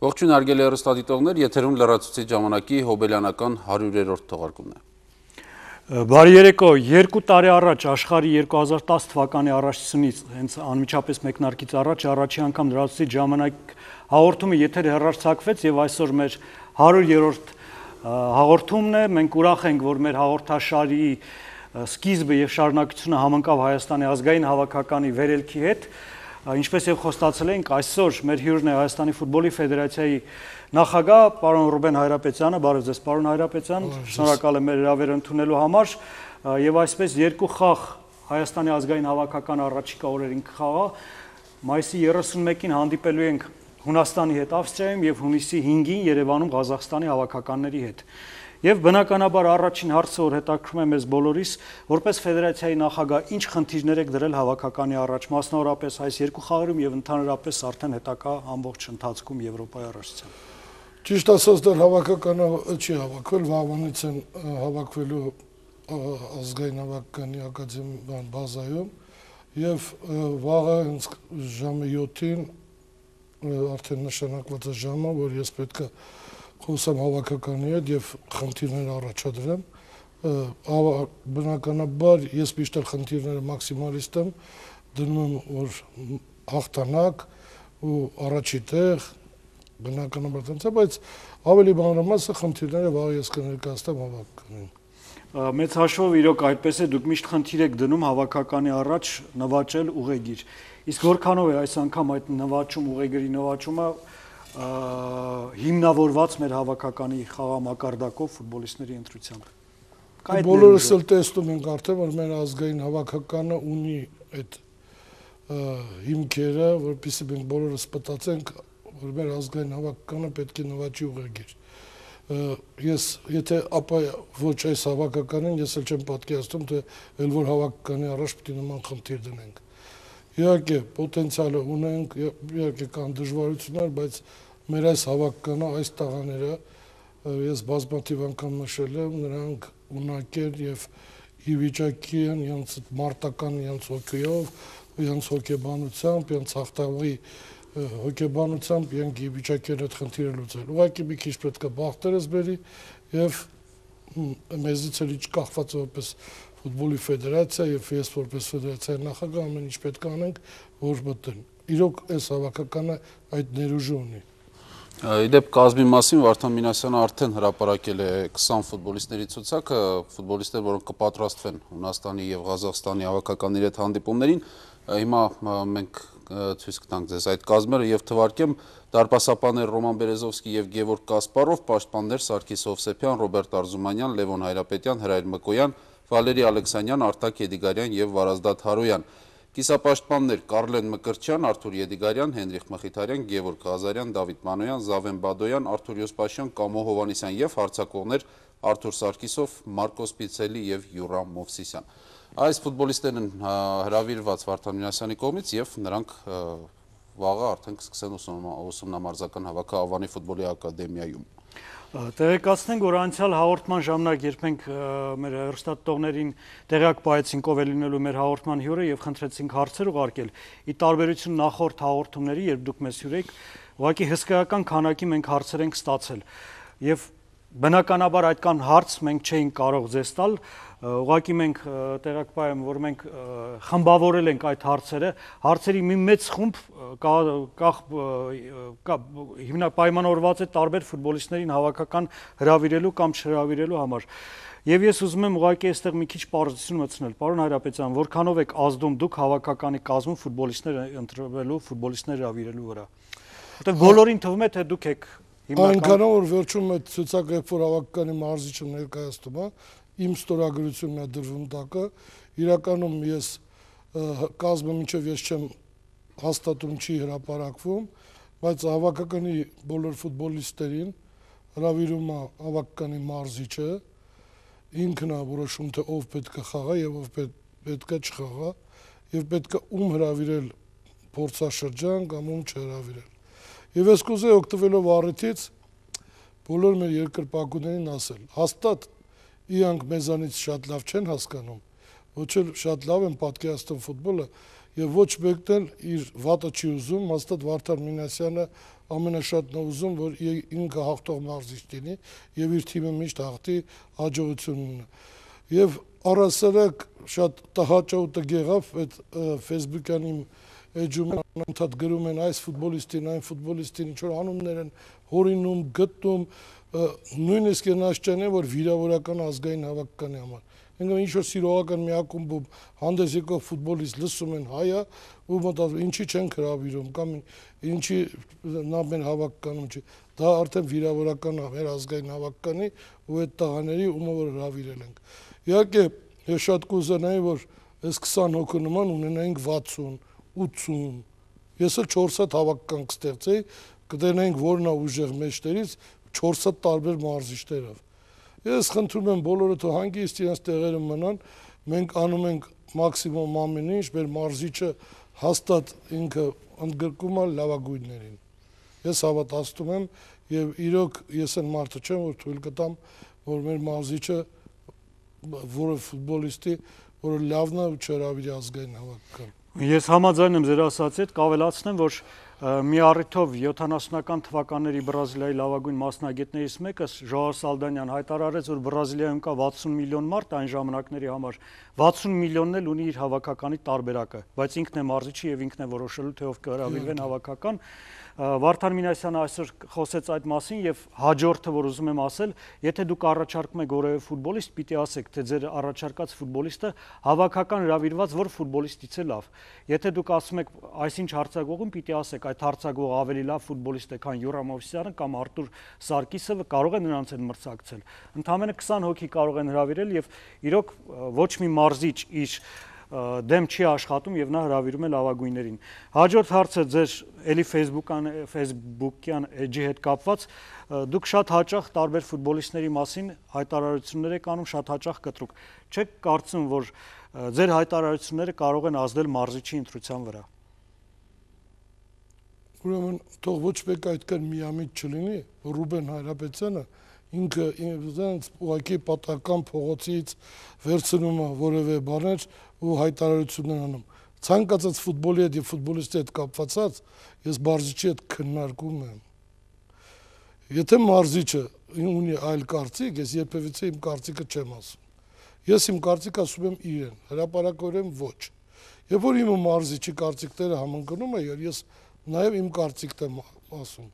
Ողջույն հարգելի հեռուստադիտողներ, եթերում լրացուցիչ ժամանակի հոբելյանական 100-րդ թողարկումն է։ Բարի երեկո, 2 տարի առաջ աշխարհի 2010 թվականի առաջնությունից հենց անմիջապես մեկնարկից առաջի անգամ լրացուցիչ ժամանակ հաղորդումը եթեր հեռարձակվեց եւ այսօր մեր 100-րդ հաղորդումն է։ Մենք ուրախ ենք, որ մեր հաղորդաշարի սկիզբը եւ շարունակությունը համընկավ Հայաստանի ազգային հավաքականի վերելքի հետ։ Ինչպես եւ խոստացել ենք, այսօր մեր հյուրն է Հայաստանի ֆուտբոլի ֆեդերացիայի նախագահ պարոն Ռուբեն Հայրապետյանը, բարև ձեզ պարոն Հայրապետյան, շնորհակալ եմ մեր հրավերը ընդունելու համար եւ այսպես երկու խաղ Հայաստանի ազգային հավաքական առաջիկա օրերին կխաղա։ Մայիսի 31-ին հանդիպելու ենք Հունաստանի հետ Ավստրիայում եւ հունիսի 5-ին Երևանում Ղազախստանի հավաքականների հետ։ Եվ բնականաբար առաջին հարցը, որ հետաքրքրում է մեզ բոլորիս, որպես ֆեդերացիայի նախագահ, ինչ խնդիրներ եք դրել հավաքականի առաջ, մասնավորապես այս երկու խաղերում եւ ընդհանրապես արդեն հետագա ամբողջ ընթացքում Եվրոպայի առաջացան։ Ճիշտ ասած, դեռ հավաքականը չի հավաքվել, վաղվանից են հավաքվելու ազգային հավաքականի ակադեմիական բազայում եւ վաղը ժամը 7-ին արդեն նշանակված է ժամը, որ ես պետք է խոսամ հավաքականի հետ եւ խնդիրներ առաջադրեմ, բնականաբար ես միշտ խնդիրները մաքսիմալիստ եմ, դնում եմ որ հաղթանակ ու առաջի տեղ, բնականաբար տենց է, բայց ավելի մանրամասը խնդիրները վաղ ես կներկայացնեմ հավաքականին։ Մեծ հաշվով իրոք այդպես է, դուք միշտ խնդիր եք դնում հավաքականի առաջ նվաճել ուղեգիր։ Իսկ որքանով է այս անգամ այդ ուղեգրի նվաճումը հիմնավորված մեր հավաքականի խաղամակարդակով ֆուտբոլիստների ընտրությամբ։ Բոլորս էլ տեսնում ենք արդեն, որ մեր ազգային հավաքականը ունի այդ հիմքերը, որպեսզի մենք բոլորս մտածենք, որ մեր ազգային հավաքականը պետք է նվաճի ուղեգիր։ Ես եթե ապա ոչ այս հավաքականին, ես էլ չեմ պատկերացնում, թե էլ որ հավաքականի առաջ պետք է նման խնդիր դնենք։ Իհարկե պոտենցիալը ունենք, իհարկե կան դժվարություններ, բայց մեր այս հավաքականը, այս տղաները, ես բազմաթիվ անգամ նշել եմ, նրանք ունակեր եւ ի վիճակի են իրենց մարտական իրենց հոգեով, իրենց հոգեբանությամբ, իրենց հաղթավի հոգեբանությամբ իրենք ի վիճակի են այդ խնդիրը լուծել։ Ուղղակի մի քիչ պետք է բախտերս բերի եւ մեզից էլ ինչ կախված որպես ֆուտբոլի ֆեդերացիա եւ ես որպես ֆեդերացիայի նախագահ ամեն ինչ պետք է անենք, որ մտեն։ Իրոք այս հավաքականը այդ ներուժը ունի։ Իդեպ կազմի մասին Վարդան Մինասյանը արդեն հրապարակել է 20 ֆուտբոլիստների ցուցակը, ֆուտբոլիստներ, որոնք կպատրաստվեն Հունաստանի եւ Ղազախստանի հավաքականների հետ հանդիպումներին։ Հիմա մենք ցույց կտանք ձեզ այդ կազմերը եւ թվարկեմ դարպասապաններ Ռոման Բերեզովսկի եւ Գևորգ Կասպարով, պաշտպաններ Սարգիս Հովսեփյան, Ռոբերտ Արզումանյան, Լևոն Հայրապետյան, Հրայր Մկոյան, Վալերի Ալեքսանյան, Արտակ Եդիգարյան եւ Վարազդատ Հարոյան։ Կիսապաշտպաններ Կարլեն Մկրտչյան, Արթուր Եդիգարյան, Հենրիխ Մխիթարյան, Գևորգ Ղազարյան, Դավիթ Մանոյան, Զավեն Բադոյան, Արթուր Յոսպաշյան, Կամո Հովանեսյան եւ հարձակվողներ Արթուր Սարգիսով, Մարկոս Պիցելի եւ Յուրամ Մովսիսյան։ Այս ֆուտբոլիստներն հրավիրված Վարդան Մինասյանի կողմից եւ նրանք վաղը արդեն կսկսեն ուսումնամարզական հավաքը Ավանի ֆուտբոլի ակադեմիայում։ Տեղեկացնենք, որ անցյալ հաղորդման ժամանակ երբ մենք մեր հեռուստատողներին տեղյակ պահեցինք ով է լինելու մեր հաղորդման հյուրը եւ խնդրեցինք հարցեր ուղարկել, ի տարբերություն նախորդ հաղորդումների, երբ դուք մեզ հյուրեիք, ուղղակի հսկայական քանակի մենք հարցեր ենք ստացել եւ բնականաբար այդքան հարց մենք չէինք կարող ձեզ տալ, ուղղակի մենք տեղյակ պահեմ, որ մենք խմբավորել ենք այդ հարցերը, հարցերի մի մեծ խումբ պայմանավորված է տարբեր ֆուտբոլիստներին հավաքական հրավիրելու կամ չհրավիրելու համար։ Եվ ես ուզում եմ ուղղակի այստեղ մի քիչ պարզություն մտցնել, պարոն Հայրապետյան, որքանով եք ազդում դուք հավաքականի կազմում ֆուտբոլիստներ ընտրվելու, ֆուտբոլիստներ հրավիրելու վրա։ Որտեղ բոլորին թվում է, թե դուք եք Այնքանով որ վերջում այդ ցուցակը երբ որ հավաքականի մարզիչը ներկայացնում է, իմ ստորագրությունն է դրվում տակը, իրականում ես կազմը մինչև ես չեմ հաստատում չի հրապարակվում, բայց հավաքականի բոլոր ֆուտբոլիստերին հրավիրում է հավաքականի մարզիչը, ինքն է որոշում թե ով պետք է խաղա եւ ով պետք է չխաղա եւ պետք է ում հրավիրել փորձաշրջան կամ ում չհրավիրել։ Եվ ես կուզեի օգտվելով առիթից բոլոր մեր երկրպագուներին ասել, հաստատ իրանք մեզանից շատ լավ չեն հասկանում, ոչ էլ շատ լավ են պատկերացնում ֆուտբոլը, եւ ոչ մեկն էլ իր վատը չի ուզում, հաստատ Վարդան Մինասյանը ամենաշատն է ուզում, որ ինքը հաղթող մարզիչ լինի եւ իր թիմը միշտ հաղթի, հաջողություն ունենա։ Եվ առասարակ շատ տհաճ ու տգեղավ այդ Facebook-յան իմ էջում անընդհատ գրում են այս ֆուտբոլիստին, այն ֆուտբոլիստին, ինչ որ անուններ են հորինում, գտնում, նույնիսկ այն աշճան է, որ վիրավորական ազգային հավաքականի համար։ Ինքը ինչ որ սիրողական մի ակումբում հանդես եկող ֆուտբոլիստ լսում են հայա ու մտածում ինչի չեն հրավիրում կամ ինչի նա մեր հավաքականում չի։ Դա արդեն վիրավորական է մեր ազգային հավաքականի ու այդ տղաների ումը որ հրավիրել ենք։ Իհարկե ես շատ կուզենայի որ այս 20 հոգու նման ունենայինք 60, 80։ Ես էլ 4 հատ հավաքական կստեղծեի, կտենայինք որն է ուժեղ մեջտերից 4 հատ տարբեր մարզիչներով։ Ես խնդրում եմ բոլորը թող հանգիստ իրենց տեղերը մնան, մենք անում ենք մաքսիմում ամեն ինչ, մեր մարզիչը հաստատ ինքը ընդգրկում է լավագույններին։ Ես հավատացնում եմ եւ իրոք ես այն մարդը չեմ, որ թույլ կտամ, որ մեր մարզիչը որը ֆուտբոլիստի, որը լավն է ու չհրավիրի ազգային հավաքական։ Ես համաձայն եմ ձեր ասածի հետ, կավելացնեմ, որ մի առիթով 70-ական թվականների Բրազիլիայի լավագույն մասնագետներից մեկը Ժոաո Սալդանյան հայտարարեց, որ Բրազիլիայում կա 60 միլիոն մարդ այն ժամանակների համար, 60 միլիոնն էլ ունի իր հավաքականի տարբերակը, բայց ինքն է մարզիչը եւ ինքն է որոշելու թե ով կհրավիրվեն հավաքական։ Վարդան Մինասյանը այսօր խոսեց այդ մասին եւ հաջորդը, որ ուզում եմ ասել, եթե դուք առաջարկում եք որևէ ֆուտբոլիստ, պիտի ասեք, թե ձեր առաջարկած ֆուտբոլիստը հավաքական հրավիրված որ ֆուտբոլիստից է լավ։ Եթե դուք ասում եք այսինչ հարցակողում, պիտի ասեք այդ հարցակողը ավելի լավ ֆուտբոլիստ է, քան Յուրա Մովսիսյանը կամ Արտուր Սարգիսը, կարող է նրանց հետ մրցակցել։ Ընդամենը 20 հոգի կարող են հրավիրել եւ իրոք ոչ մի մարզիչ իր դեմ չի աշխատում եւ նա հրավիրում է լավագույններին։ Հաջորդ հարցը ձեր էլի Facebook-յան էջի հետ կապված, դուք շատ հաճախ տարբեր ֆուտբոլիստների մասին հայտարարություններ եք անում, շատ հաճախ կտրուկ։ Չեք կարծում, որ ձեր հայտարարությունները կարող են ազդել մարզիչի ընտրության վրա։ Ուրեմն թող ոչ մեկ այդքան միամիտ չլինի, Ռուբեն Հայրապետյանը ինքը ինձ ուղղակի պատական փողոցից վերցնում է որևէ բաներ ու հայտարարություններ անում։ Ցանկացած ֆուտբոլի հետ եւ ֆուտբոլիստի հետ կապված ես մարզիչի հետ քննարկում եմ։ Եթե մարզիչը ունի այլ կարծիք, ես երբևիցե իմ կարծիքը չեմ ասում։ Ես իմ կարծիքը ասում եմ իրեն, հրապարակորեն ոչ։ Երբ որ իմ մարզիչի կարծիքները համընկնում են, ես նաեւ իմ կարծիքն եմ ասում։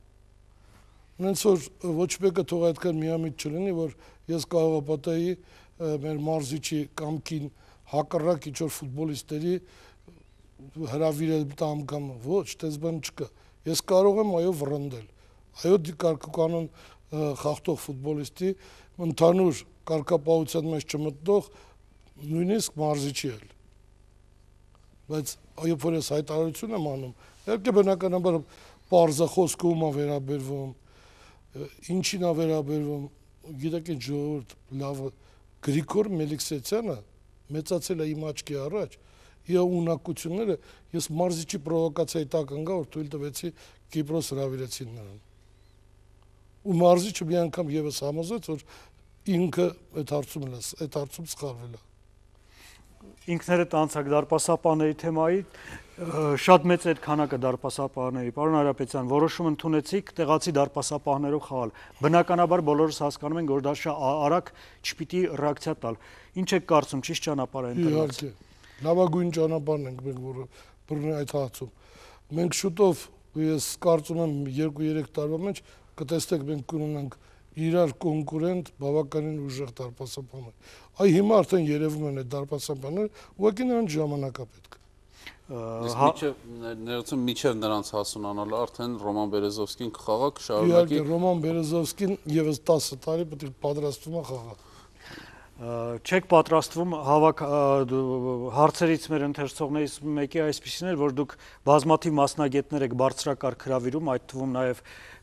Նենց որ ոչ մեկը թող այդքան միամիտ չլինի, որ ես կարող պատահի մեր մարզիչի կամքին հակառակ ինչ-որ ֆուտբոլիստների հրավիրել տամ կամ ոչ, դες բան չկա։ Ես կարող եմ այո վռնդել։ Այո կարգուկանոն խախտող ֆուտբոլիստի ընդհանուր կարգապահության մեջ չմտնող նույնիսկ մարզիչի էլ։ Բայց երբ որ ես հայտարարություն եմ անում, իհարկե բնականաբար պարզախոսքը ում է վերաբերվում, ինչին է վերաբերվում, գիտեք ինչ ժողովուրդ լավ Գրիգոր Մելիքսեթյանը մեծացել է իմ աչքի առաջ, իր ունակությունները ես մարզիչի պրովոկացիայի տակ ընկա, որ թույլ տվեցի Կիպրոս հրավիրեցին նրան։ Ու մարզիչը մի անգամ եւս համոզեց, որ ինքը այդ հարցում սխալվել է։ Ինքներդ անցակ դարպասապահների թեմայի շատ մեծ է քանակը դարպասապահների։ Պարոն Հայրապետյան, որոշում ընդունեցիք տեղացի դարպասապահներով խաղալ։ Բնականաբար բոլորս հասկանում ենք, որ դա շատ արագ չպիտի ռեակցիա տալ։ Ինչ եք կարծում, ճիշտ ճանապարհ է ընտրված։ Իհարկե, լավագույն ճանապարհն ենք մենք, որը բռնի այդ հարցում։ Մենք շուտով, ես կարծում եմ 2-3 տարվա մեջ կտեսնենք մենք կունենանք իրար կոնկուրենտ բավականին ուժեղ դարպասապահներ։ Այ հիմա արդեն երևում են այդ դարպասապահները, ուղղակի նրանց ժամանակա պետք է։ Ներեցում միջև նրանց հասունանալը արդեն Ռոման Բերեզովսկին կխաղա, կշարունակի։ Իհարկե Ռոման Բերեզովսկին եւս 10 տարի պետք է պատրաստվում է խաղա։ Չեք պատրաստվում հարցերից մեր ընթերցողներից մեկի այսպիսին էր, որ դուք բազմաթիվ մասնագետներ եք բարձրակարգ հրավիրում, այդ թվում նաև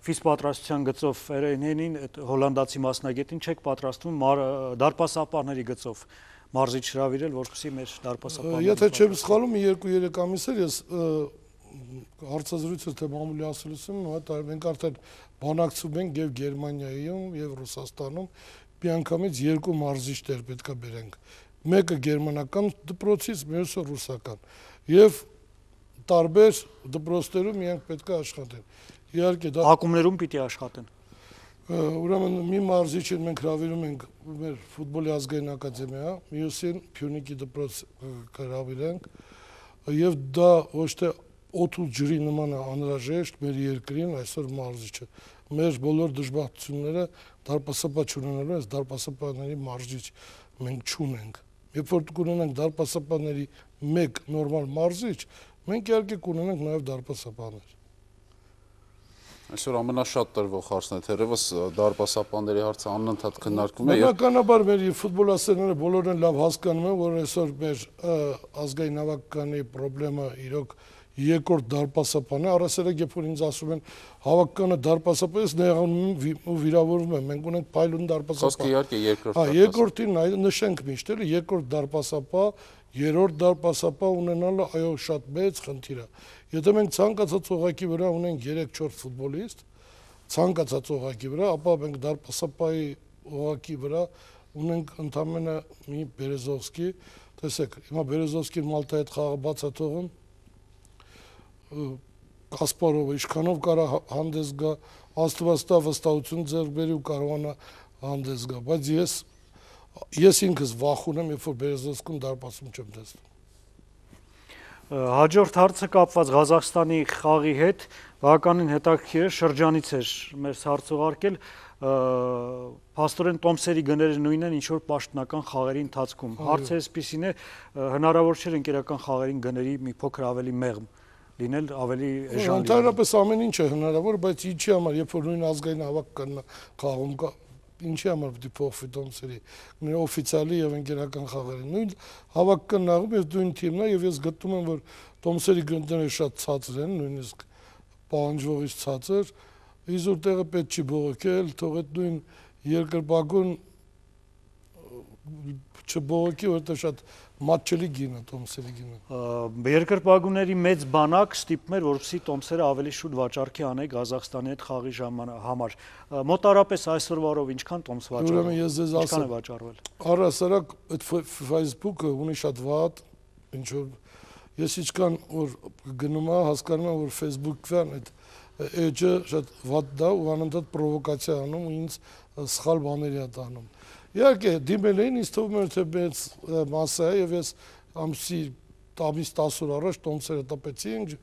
ֆիզպատրաստության գծով Ֆերենհենին, հոլանդացի մասնագետին, չեք պատրաստվում դարպասապահների գծով մարզիչ հրավիրել, որպեսզի մեր դարպասապահները։ Եթե չեմ սխալվում, 2-3 ամիս էր ես հարցազրույցը թե մամուլի ասելուց եմ, մենք արդեն բանակցում ենք եւ Գերմանիայում եւ Ռուսաստանում միանգամից 2 մարզիչներ պետք է բերենք։ Մեկը գերմանական դպրոցից, մյուսը ռուսական։ Եվ տարբեր դպրոցներում իրենք պետք է աշխատեն։ Իհարկե դա ակումբներում պիտի աշխատեն։ Ուրեմն մի մարզիչին մենք հրավիրում ենք մեր ֆուտբոլի ազգային ակադեմիա, մյուսին Փյունիկի դպրոց հրավիրենք, եւ դա ոչ թե օդ ու ջրի նման է անհրաժեշտ մեր երկրին այսօր մարզիչը։ Մեր բոլոր դժբախտությունները դարպասապա չունենալու, այս դարպասապաների մարզիչ մենք չունենք։ Երբ որ կունենանք դարպասապաների մեկ նորմալ մարզիչ, մենք իհարկե կունենանք նաև դարպասապաներ։ Այսօր ամենաշատ տրվող հարցն է, թերևս դարպասապանների հարցը անընդհատ քննարկվում է։ Բնականաբար մեր ֆուտբոլասերները բոլորն լավ հասկանում են, որ այսօր մեր ազգային հավաքականի խնդրեմը իրոք երկրորդ դարպասապան է, առասարակ երբ որ ինձ ասում են հավաքականը դարպասապան, ես նեղանում ու վիրավորվում եմ, մենք ունենք փայլուն դարպասապան։ Խոսքը իհարկե երկրորդ։ Երկրորդին նշենք միշտ, երկրորդ դարպասապան, երրորդ դարպասապան ունենալը այո շատ մեծ խնդիր է։ Եթե մենք ցանկացած օղակի վրա ունենք 3-4 ֆուտբոլիստ, ցանկացած օղակի վրա, ապա մենք դարպասապայի օղակի վրա ունենք ընդամենը մի Բերեզովսկի, տեսեք, հիմա Բերեզովսկին Մալտայի հետ խաղը բաց է թողում, Կասպարովը ինչքանով կարա հանդես գա, Աստված տա վստահություն ձեռք բերի ու կարողանա հանդես գա, բայց ես ինքս վախում եմ, երբ որ Բերեզովսկում դարպասում չեմ տեսնում։ Հաջորդ հարցը կապված Ղազախստանի խաղի հետ, բավականին հետաքրքիր է, շրջանից էր մեզ հարց ուղարկել, փաստորեն տոմսերի գները նույնն են ինչ որ պաշտոնական խաղերի ընթացքում։ Հարցը այսպիսին է, հնարավոր չէ ընկերական խաղերին գների մի փոքր ավելի մեղմ լինել, ավելի էժան։ Ընդհանրապես ամեն ինչ է հնարավոր, բայց ինչի համար, երբ որ նույն ազգային հավաքականն խաղում կա, ինչի համար պիտի փոխվի տոմսերի, օֆիցիալի եւ ընկերական խաղերի։ Նույն հավաքական նաղում եւ նույն թիմն է եւ ես գտնում եմ, որ տոմսերի գները շատ ցածր են, նույնիսկ պահանջվողից ցածր, իզուր տեղը պետք չի բողոքել, թող այդ նույն երկրպագուն չբողոքի, որտեղ շատ մատչելի գին է տոմսերի գինը։ Երկրպագուների մեծ բանակ ստիպում էր, որպեսզի տոմսերը ավելի շուտ վաճառքի անեի Ղազախստանի հետ խաղի համար։ Մոտարապես այսօրվա օրով ինչքան տոմս վաճառվել։ Ուրեմն ես ձեզ ասեմ, վաճառվել։ Առհասարակ այդ Facebook-ը ունի շատ վատ, ինչ որ ես ինչքան որ գնում եմ, հասկանում եմ, որ Facebook-ն այդ էջը շատ վատ դա ու անընդհատ պրովոկացիա անում ու ինձ սխալ բաների է տանում։ Իհարկե դիմել էին, ինձ թվում էր թե մեծ մասը է եւ ես ամիս 10 օր առաջ տոմսերը տպեցինք,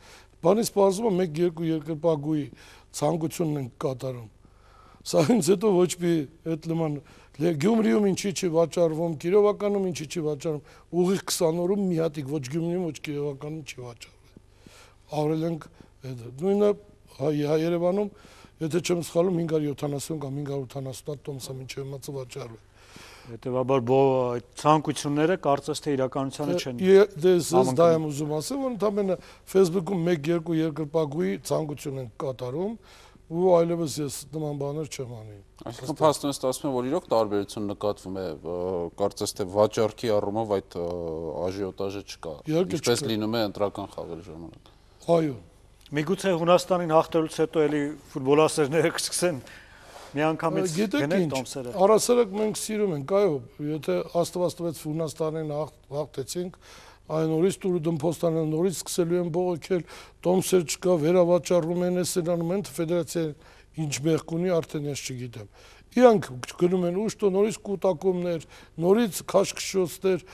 բանից պարզվում է 1-2 երկրպագուի ցանկությունն են կատարում։ Սա ինձ հետո ոչ մի այդ նման Գյումրիում ինչի չի վաճառվում, Կիրովականում ինչի չի վաճառվում, ուղիղ 20 օրում մի հատիկ ոչ Գյումրիում, ոչ Կիրովականում չի վաճառվել։ Արել ենք նույնը Երևանում, եթե չեմ սխալվում 570 կամ 580 տոմս է մինչև հիմա վաճառվել։ Հետևաբար այդ ցանկությունները կարծես թե իրականությանը չեն։ Ես դա եմ ուզում ասել, որ ընդամենը Facebook-ում 1-2 երկրպագուի ցանկություն են կատարում ու այլևս ես նման բաներ չեմ անի։ Այսինքն փաստորեն ստացվում է, որ իրոք տարբերություն նկատվում է, կարծես թե վաճառքի առումով այդ աժիոտաժը չկա։ Ինչպես լինում է ընտրական խաղերի ժամանակ։ Այո։ Միգուցե Հունաստանին հաղթելուց հետո էլի ֆուտբոլասերները կսկսեն միանգամից գնել տոմսերը։ Առասարակ մենք սիրում ենք, այո, եթե Աստված տվեց Հունաստանին հաղթեցինք, այն օրից տուրը դմփոստանը նորից սկսելու են բողոքել, տոմսեր չկա, վերավաճառում են, էսերանում են, ֆեդերացիան ինչ մեղք ունի, արդեն ես չգիտեմ։ Իրանք գնում են ուշտո, նորից կուտակումներ, նորից քաշքշոցներ,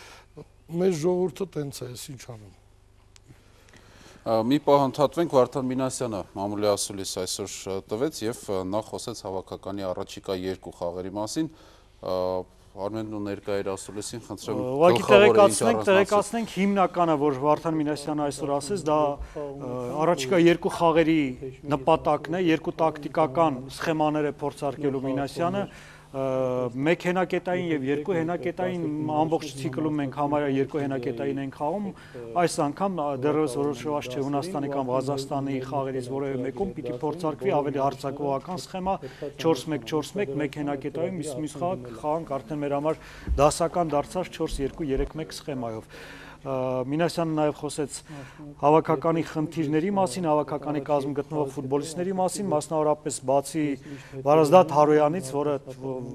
մեր ժողովուրդը տենց է, ինչ անում։ Մի պահ ընդհատվենք, Վարդան Մինասյանը մամուլի ասուլիս այսօր տվեց եւ նա խոսեց հավաքականի առաջիկա 2 խաղերի մասին։ Արմենն ու ներկա էր ասուլիսին, խնդրեմ ուղղակի տեղեկացնենք հիմնականը, որ Վարդան Մինասյանը այսօր ասեց, դա առաջիկա 2 խաղերի նպատակն է, 2 տակտիկական սխեմաներ է փորձարկելու Մինասյանը, 1 հենակետային եւ 2 հենակետային ամբողջ ցիկլում մենք համարյա 2 հենակետային ենք խաղում, այս անգամ դեռևս որոշված չէ Հունաստանի կամ Ղազախստանի խաղերից որևէ մեկում պիտի փորձարկվի ավելի հարձակողական սխեմա 4-1-4-1, 1 հենակետային, մյուս խաղանք արդեն մեր համար դասական դարձած 4-2-3-1 սխեմայով։ Մինասյանը նաև խոսեց հավաքականի խնդիրների մասին, հավաքականի կազմում գտնվող ֆուտբոլիստների մասին, մասնավորապես բացի Վարազդատ Հարոյանից, որը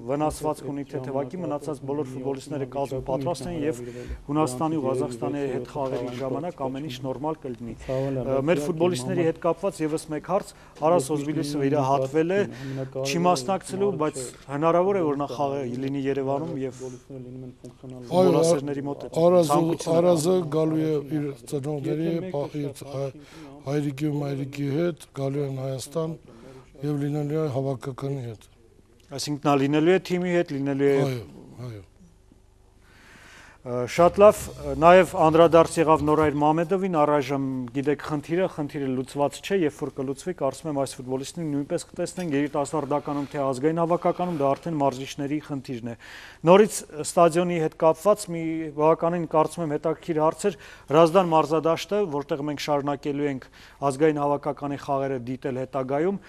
վնասվածք ունի թեթևակի, մնացած բոլոր ֆուտբոլիստները կազմում պատրաստ են եւ Հունաստանի ու Ղազախստանի հետ խաղերի ժամանակ ամեն ինչ նորմալ կլինի։ Մեր ֆուտբոլիստների հետ կապված եւս մեկ հարց, Արաս Օզբիլիսը իրահատվել է, չի մասնակցելու, բայց հնարավոր է որ նա խաղը լինի Երևանում եւ ֆուտբոլասերների մոտ Արազը գալու է իր ծնողների, հայրիկի ու մայրիկի հետ, գալու են Հայաստան եւ լինելու է հավաքականի հետ։ Այսինքն նա լինելու է թիմի հետ, լինելու է Այո։ Շատ լավ, նաև անդրադարձ եղավ Նորայր Մամեդովին, առայժմ գիտեք խնդիրը լուծված չէ, երբ որ կլուծվի, կարծում եմ այս ֆուտբոլիստին նույնպես կտեսնենք երիտասարդականում թե ազգային հավաքականում, դա արդեն մարզիչների խնդիրն է։ Նորից ստադիոնի հետ կապված մի բավականին կարծում եմ հետաքրքիր հարց էր Հրազդան մարզադաշտը, որտեղ մենք շարունակելու ենք ազգային հավաքականի խաղերը դիտել հետագայում,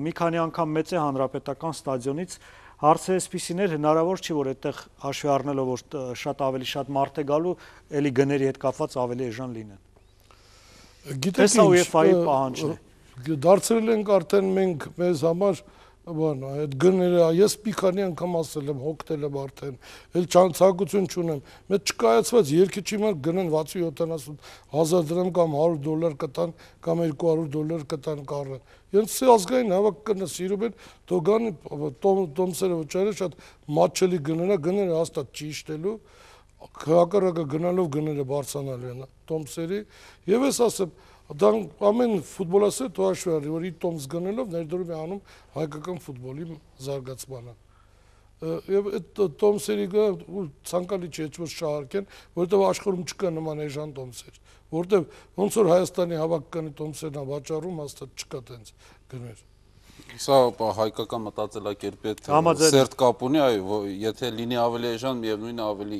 մի քանի անգամ մեծ է հանրապետական ստադիոնից Հարցը այսպիսին էր, հնարավոր չի, որ այդտեղ հաշվի առնելով, որ շատ ավելի շատ մարդ է գալու, էլի գների հետ կապված ավելի էժան լինեն։ Գիտեք ինչ, UEFA-ի պահանջն է։ Դարձրել ենք արդեն մենք մեզ համար այդ գները, ես մի քանի անգամ ասել եմ, հոգնել եմ արդեն, էլ ցանկություն չունեմ, մեծ չկայացված երկիչի մար գնեն 60-70 հազար դրամ կամ $100 կտան կամ $200 կտան կառը։ Ես ազգային հավաքականը սիրում են, դոգան տոմսերը վճարել շատ մատչելի գները հաստատ չի իշտելու, հակառակը գնալով գները բարձրանալու են տոմսերի, եւ ես ասեմ Դա ամեն ֆուտբոլասեր հաշվի առնի, որ իր տոմս գնելով ներդրում է անում հայկական ֆուտբոլի զարգացմանը։ Եվ այդ տոմսերի ցանկալի չէ ոչ շահարկեն, որովհետև աշխարհում չկա նման էժան տոմսեր, որովհետև ոնց որ Հայաստանի հավաքականի տոմսերն է վաճառում, հաստատ չկա տենց գներ։ Սա հայկական մտածելակերպի հետ սերտ կապ ունի, այո, եթե լինի ավելի էժան, միևնույնն է ավելի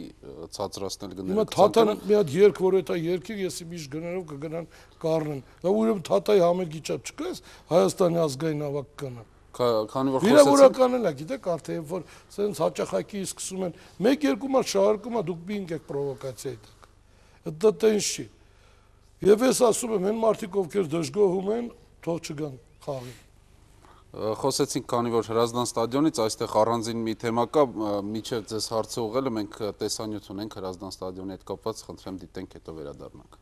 ցածրացնել գները։ Հիմա Թաթան մի հատ երկ, որ այդ երգի ես միշտ գներով կգնան կառնեն։ Դա ուրեմն Թաթայի համերգի չափ չկա էս Հայաստանի ազգային հավաքականը։ Քանի որ վիրավորականն է, գիտեք, արդեն երբ որ սենց հաճախակի սկսում են 1-2 մար շահարկում է, դուք բինգ եք պրովոկացիայի տակ։ Դա տենց չի։ Եվ ես ասում եմ, այն մարդիկ ովքեր դժգոհում են, թող չգան խաղի։ Խոսեցինք, քանի որ Հրազդան ստադիոնից այստեղ առանձին մի թեմա կա, միջև ձեզ հարցը ուղղելը մենք տեսանյութ ունենք Հրազդան ստադիոնի հետ կապված, խնդրեմ դիտենք, հետո վերադառնանք։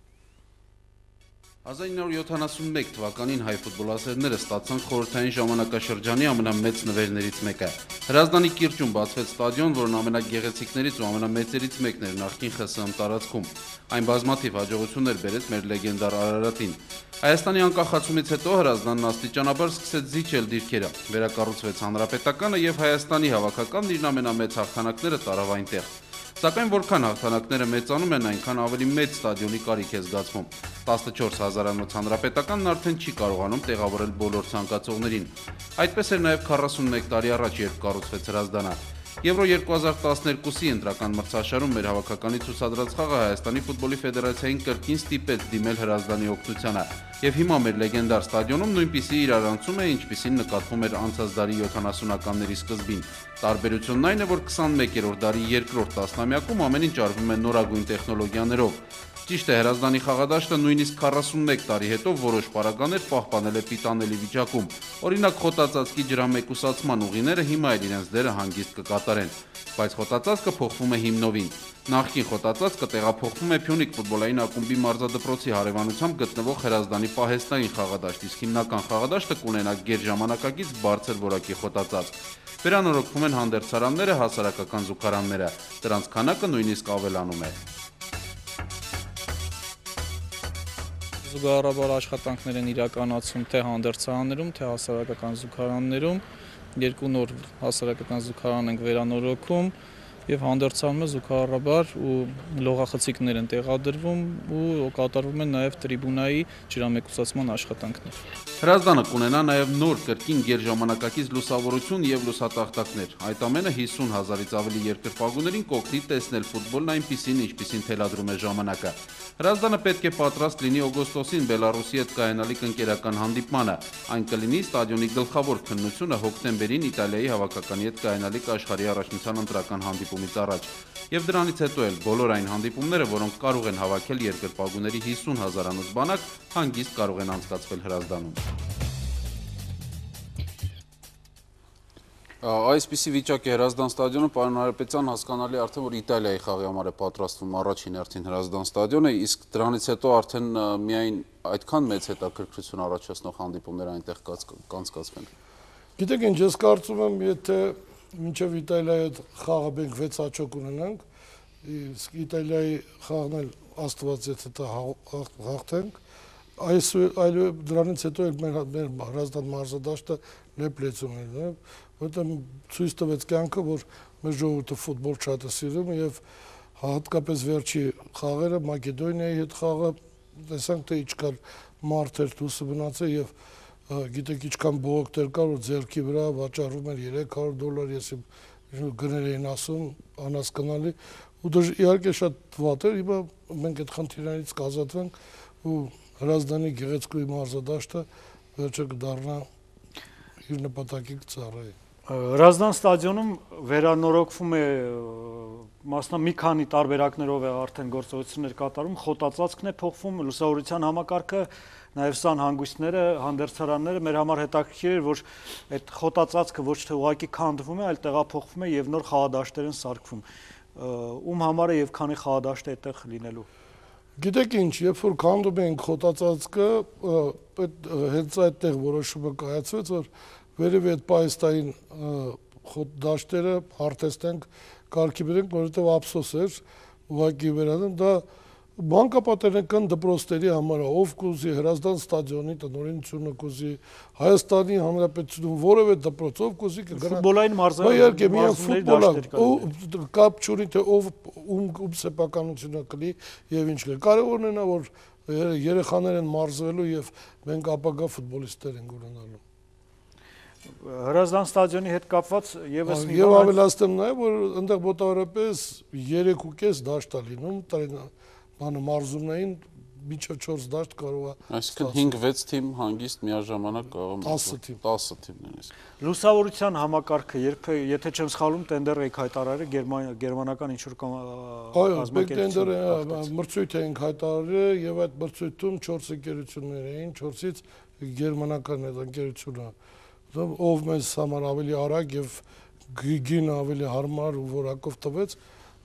1971 թվականին հայ ֆուտբոլասերները ստացան խորհրդային ժամանակաշրջանի ամենամեծ նվերներից մեկը։ Հրազդանի կիրճում բացվեց ստադիոն, որն ամենագեղեցիկներից ու ամենամեծերից մեկն էր նախկին ԽՍՀՄ տարածքում։ Այն բազմաթիվ հաջողություններ բերեց մեր լեգենդար Արարատին։ Հայաստանի անկախացումից հետո Հրազդանն աստիճանաբար սկսեց զիջել դիրքերը։ Վերակառուցվեց հանրապետականը եւ Հայաստանի հավաքականն իր ամենամեծ հաղթանակները տարավ այնտեղ։ Սակայն որքան հաղթանակները մեծանում են, այնքան ավելի մեծ ստադիոնի կարիք է զգացվում։ 14,000-անոց հանրապետականն արդեն չի կարողանում տեղավորել բոլոր ցանկացողներին։ Այդպես էր նաև 41 տարի առաջ, երբ կառուցվեց Հրազդանը։ Եվրո 2012-ի ընտրական մրցաշարում մեր հավաքականի ցուցադրած խաղը Հայաստանի ֆուտբոլի ֆեդերացիային կրկին ստիպեց դիմել Հրազդանի օգնությանը։ Եվ հիմա մեր լեգենդար ստադիոնում նույնպիսի իրարանցում է, ինչպիսին նկատվում էր անցած դարի 70-ականների սկզբին։ Տարբերությունն այն է, որ 21-րդ դարի երկրորդ տասնամյակում ամեն ինչ արվում է նորագույն տեխնոլոգիաներով։ Ճիշտ է, Հրազդանի խաղադաշտը նույնիսկ 41 տարի հետո որոշ պարագաներ պահպանել է պիտանելի վիճակում։ Օրինակ խոտածածկի ջրամեկուսացման ուղիները հիմա էլ իրենց դերը հանգիստ կկատարեն, բայց խոտածածկը փոխվում է հիմնովին։ Նախկին խոտածածկը տեղափոխվում է Փյունիկ ֆուտբոլային ակումբի մարզադպրոցի հարևանությամբ գտնվող Հրազդանի պահեստային խաղադաշտ, իսկ հիմնական խաղադաշտը կունենա գերժամանակակից բարձր որակի խոտածածկ։ Վերանորոգվում են հանդերձարանները, հասարակական զուգարանները, դրանց քանակը նույնիսկ ավելանում է։ Զուգահեռաբար աշխատանքներ են իրականացում թե հանդերձարաններում, թե հասարակական զուգարաններում, 2 նոր հասարակական զուգարան ենք վերանորոգում եւ հանդերձանում է զուգահեռաբար ու լողախցիկներ են տեղադրվում ու կատարվում են նաեւ տրիբունայի ջրամեկուսացման աշխատանքներ։ Հրազդանը կունենա նաև նոր կրկին գերժամանակակից լուսավորություն եւ լուսատախտակներ։ Այդ ամենը 50,000-ից ավելի երկրպագուներին կօգնի տեսնել ֆուտբոլն այնպիսին, ինչպիսին թելադրում է ժամանակը։ Հրազդանը պետք է պատրաստ լինի օգոստոսին Բելարուսի հետ կայանալիք ընկերական հանդիպմանը։ Այն կլինի ստադիոնի գլխավոր քննությունը հոկտեմբերին Իտալիայի հավաքականի հետ կայանալիք աշխարհի առաջնության ընտրական հանդիպում հանդիպումից առաջ։ Եվ դրանից հետո էլ բոլոր այն հանդիպումները, որոնք կարող են հավաքել երկրպագուների 50,000-անոց բանակ, հանգիստ կարող են անցկացվել Հրազդանում։ Այսպիսի վիճակ է Հրազդան ստադիոնում, պարոն Հարապետյան, հասկանալի արդեն, որ Իտալիայի խաղի համար է պատրաստվում առաջին հերթին Հրազդան ստադիոնը, իսկ դրանից հետո արդեն միայն այդքան մեծ հետաքրքրություն առաջացնող հանդիպումներ այնտեղ կանցկացվեն։ Գիտեք ինչ, ես կարծում եմ, եթե մինչև Իտալիայի հետ խաղը մենք 6 հաջող ունենանք, իսկ Իտալիայի խաղն էլ Աստված եթե դա հաղթենք, այլ դրանից հետո մեր Հրազդան մարզադաշտը լեփլեցում է, որտեղ ցույց տվեց կյանքը, որ մեր ժողովուրդը ֆուտբոլ շատ է սիրում եւ հատկապես վերջի խաղերը Մակեդոնիայի հետ խաղը տեսանք թե ինչքան մարդ էր դուսը մնացել եւ գիտեք ինչքան բողոքներ կար որ ձեռքի վրա վաճառում էր $300, ես գներ էին ասում անհասկանալի ու դա իհարկե շատ վատ էր, հիմա մենք այդ խնդիրներից կազատվենք ու Հրազդանի գեղեցկուի մարզադաշտը վերջը կդառնա իր նպատակի կծառայի։ Հրազդան ստադիոնում վերանորոգվում է մասնա մի քանի տարբերակներով է արդեն գործողություններ կատարում, խոտածածկն է փոխվում, լուսավորության համակարգը, նաև սան հանգույցները, հանդերձարանները, մեր համար հետաքրքիր էր, որ այդ խոտածածկը ոչ թե ուղղակի քանդվում է, այլ տեղափոխվում է եւ նոր խաղադաշտեր են սարքվում։ Ում համար է եւ քանի խաղադաշտ է այդտեղ լինելու։ Գիտեք ինչ, երբ որ քանդում ենք խոտածածկը, հենց այդտեղ որոշումը կայացվեց, որ վերևի այդ պայստային դաշտերը հարթեցնենք, կարգի բերենք, որովհետև ափսոս էր, ուղղակի վերանան, դա մանկապատերական դպրոցների համար է, ով կուզի Հրազդան ստադիոնի տնօրինությունը կուզի, Հայաստանի Հանրապետությունում որևէ դպրոց, ով կուզի կգնա։ Ֆուտբոլային իհարկե միայն ֆուտբոլը, կապ չունի թե ով ում սեփականությունը կլի եւ ինչ կլի։ Կարևորն է նա որ երեխաներ են մարզվելու եւ մենք ապագա ֆուտբոլիստներ ենք ունենալու։ Հրազդան ստադիոնի հետ կապված եւս մի եւ ավելացնեմ նաեւ որ այնտեղ մոտավորապես 3.5 դաշտ է լինում, բանը մարզումներին միջով 4 դաշտ կարող է։ Այսինքն 5-6 թիմ հանգիստ միաժամանակ կարող է 10 թիմ նույնիսկ։ Լուսավորության համակարգը եթե չեմ սխալվում տենդեր եք հայտարարել գերմանական ինչ-որ կազմակերպություն։ Այո, մրցույթ ենք հայտարարել եւ այդ մրցույթում 4 ընկերություններ էին, 4-ից գերմանական այդ ընկերությունը ով մեզ համար ավելի արագ եւ գին ավելի հարմար ու որակով տվեց,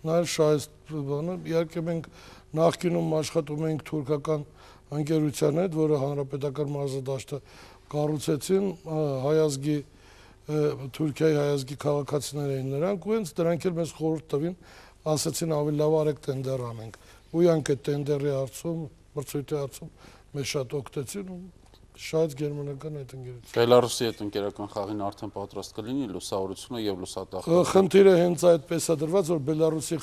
նա էլ շահեց բանը, իհարկե մենք նախկինում աշխատում էինք թուրքական ընկերության հետ, որը հանրապետական մարզադաշտը կառուցեցին, հայազգի Թուրքիայի հայազգի քաղաքացիներ էին նրանք, ու հենց դրանք էլ մեզ խորհուրդ տվին, ասացին ավելի լավ արեք տենդեր անենք։ Ու իրանք այդ տենդերի հարցում, մրցույթի հարցում մեզ շատ օգտեցին ու շատ գերմանական այդ ընկերություն։ Բելարուսի հետ ընկերական խաղին արդեն պատրաստ կլինի լուսավորությունը եւ լուսատախտը։ Խնդիրը հենց այդպես է դրված, որ Բելարուսի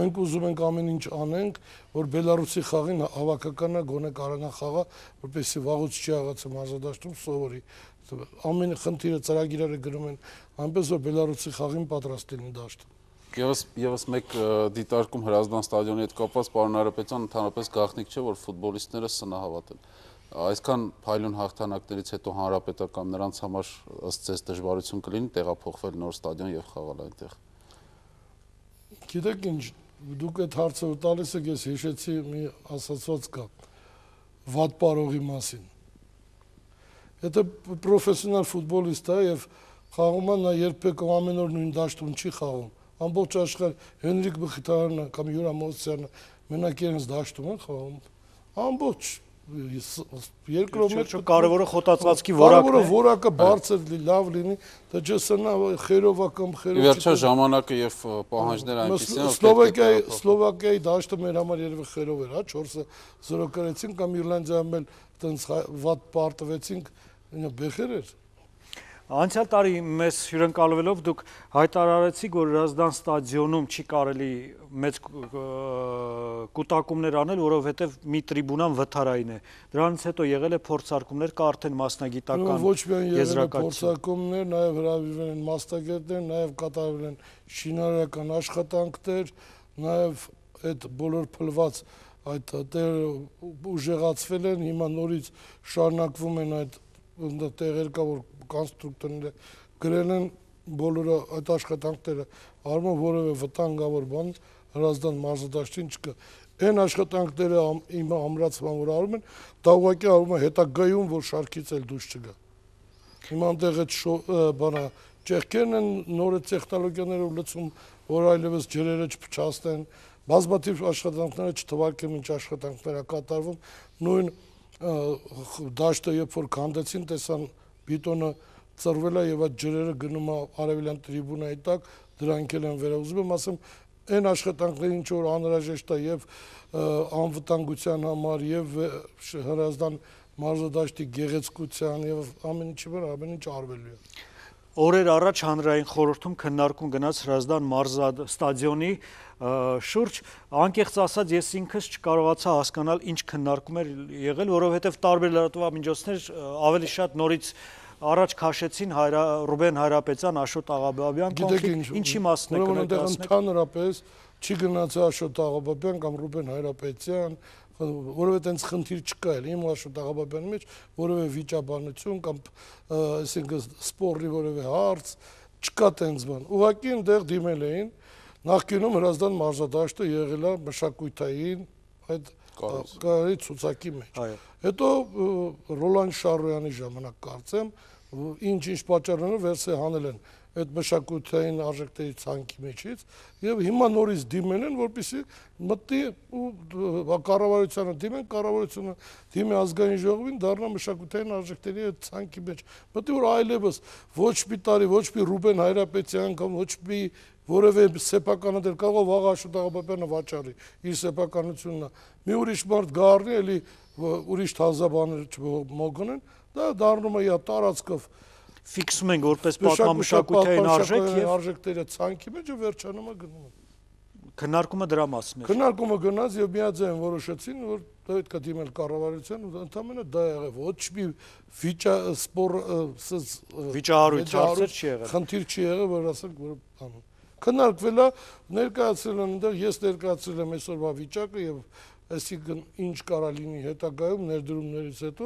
մենք ուզում ենք ամեն ինչ անենք, որ Բելարուսի խաղին հավաքականը գոնե կարողանա խաղա, որպեսզի վաղուց չի աղացը մարզադաշտում սովորի։ Ամեն խնդիրը ծրագիրները գրում են այնպես որ Բելարուսի խաղին պատրաստ լինի դաշտը։ Եվս մեկ դիտարկում Հրազդան ստադիոնի հետ կապված պարոն Հարապետյան ընդհանրապես գաղտնիք չէ, որ ֆուտբոլիստները սնահավատ են։ Այսքան փայլուն հաղթանակներից հետո հանրապետական նրանց համար ըստ ձեզ դժվարություն կլինի տեղափոխվել նոր ստադիոն եւ խաղալ այնտեղ։ Գիտեք ինչ, դուք այդ հարցը տալիս եք, ես հիշեցի մի ասացված կա վատ պարողի մասին։ Եթե պրոֆեսիոնալ ֆուտբոլիստ է եւ խաղում է, նա երբեք ամեն օր նույն դաշտում չի խաղում։ Ամբողջ աշխարհ Հենրիկ Մխիթարյանը կամ Յուրա Մոսյանը մենակ իրենց դաշտում են խաղում։ Ամբողջ երկրորդ կարևորը խոտածածկի որակն է։ Կարևորը որակը բարձր լավ լինի, դա չսնա խերովա կամ խերով։ Վերջա ժամանակը եւ պահանջները այնպեսին են, Սլովակիայի դաշտը մեր համար երևի խերով էր, հա 4-0 կրեցին կամ Իռլանդիայում էլ տենց վատ պարտվեցինք, բեխեր էր։ Անցյալ տարի մեզ հյուրընկալվելով դուք հայտարարեցիք, որ Հրազդան ստադիոնում չի կարելի մեծ կուտակումներ անել, որովհետև մի տրիբունան վթարային է։ Դրանից հետո եղել է փորձարկումներ, կա արդեն մասնագիտական ոչ միայն եղել է փորձարկումներ, նաև հրավիրվել են մասնագետներ, նաև կատարվել են շինարարական աշխատանքներ, նաև այդ բոլոր փլված այդ ուժեղացվել են, հիմա նորից շարունակվում են այդ տեղեր կա, որ կոնստրուկտորները գրել են բոլորը այդ աշխատանքները արվում, որևէ վտանգավոր բան Հրազդան մարզադաշտին չկա։ Այն աշխատանքները իմ ամրացման որ արում են, դա ուղղակի արվում է հետագայում, որ շարքից էլ դուրս չգա։ Հիմա այնտեղ այդ բանա ճեղքերն են նոր տեխնոլոգիաներով լցում, որ այլևս ջրերը չփչացնեն, բազմաթիվ աշխատանքները չթվարկեմ ինչ աշխատանքներ է կատարվում, նույն դաշտը երբ որ քանդեցին, տեսան բետոնը ծռվել է եւ այդ ջրերը գնում է արևելյան տրիբունայի տակ, դրանք էլ են վերահսկում, ասեմ, այն աշխատանքները ինչ որ անհրաժեշտ է եւ անվտանգության համար եւ Հրազդան մարզադաշտի գեղեցկության եւ ամեն ինչի վրա ամեն ինչ արվելու է։ Օրեր առաջ հանրային խորհրդում քննարկում գնաց Հրազդան մարզաստադիոնի շուրջ, անկեղծ ասած ես ինքս չկարողացա հասկանալ ինչ քննարկում էր եղել, որովհետեւ տարբեր լրատվամիջոցներ ավելի շատ նորից առաջ քաշեցին Ռուբեն Հայրապետյան, Աշոտ Աղաբաբյան կոնֆլիկտ, ինչի մասն է կներկայացնեք։ Ընդհանրապես չի գնացել Աշոտ Աղաբաբյան կամ Ռուբեն Հայրապետյան, որովհետեւ այնց խնդիր չկա էլ իմ Աշոտ Աղաբաբյանի մեջ որևէ վիճաբանություն կամ այսինքն սպորի որևէ հարց չկա տենց բան։ Ուղղակի այնտեղ դիմել էին նախկինում Հրազդան մարզադաշտը եղել է մշակութային այդ կարելի ցուցակի մեջ։ Հետո Ռոլան Շարոյանի ժամանակ կարծեմ ինչ պատճառներով վերցե հանել են այդ մշակութային արժեքների ցանկի մեջից եւ հիմա նորից դիմել են, որպեսզի մտի ու կառավարությանը դիմեն, կառավարությունը դիմի ազգային ժողովին, դառնա մշակութային արժեքների այդ ցանկի մեջ։ Մտի որ այլևս ոչ մի տարի, ոչ մի Ռուբեն Հայրապետյան կամ ոչ մի որևէ սեփականը դեր կարող վաղ Աշոտ Աղաբաբյանը վաճառի իր սեփականությունն է։ Մի ուրիշ մարդ գարնի, էլի ուրիշ թազաբաներ չմոգնեն, դա դառնում է տարածքով ֆիքսում են որպես պատմամշակութային արժեք եւ արժեքները ցանկի մեջ վերջանում է գնում։ Քննարկումը դրա մասն է։ Քննարկումը գնաց եւ միաձայն որոշեցին, որ պետք է դիմել կառավարության ու ընդամենը դա եղավ։ Ոչ մի վիճահարույց հարցեր չի եղել։ Խնդիր չի եղել, որ ասենք որ բան։ Քննարկվել է, ներկայացրել են այնտեղ, ես ներկայացրել եմ այսօրվա վիճակը եւ այսինքն ինչ կարա լինի հետագայում ներդրումներից հետո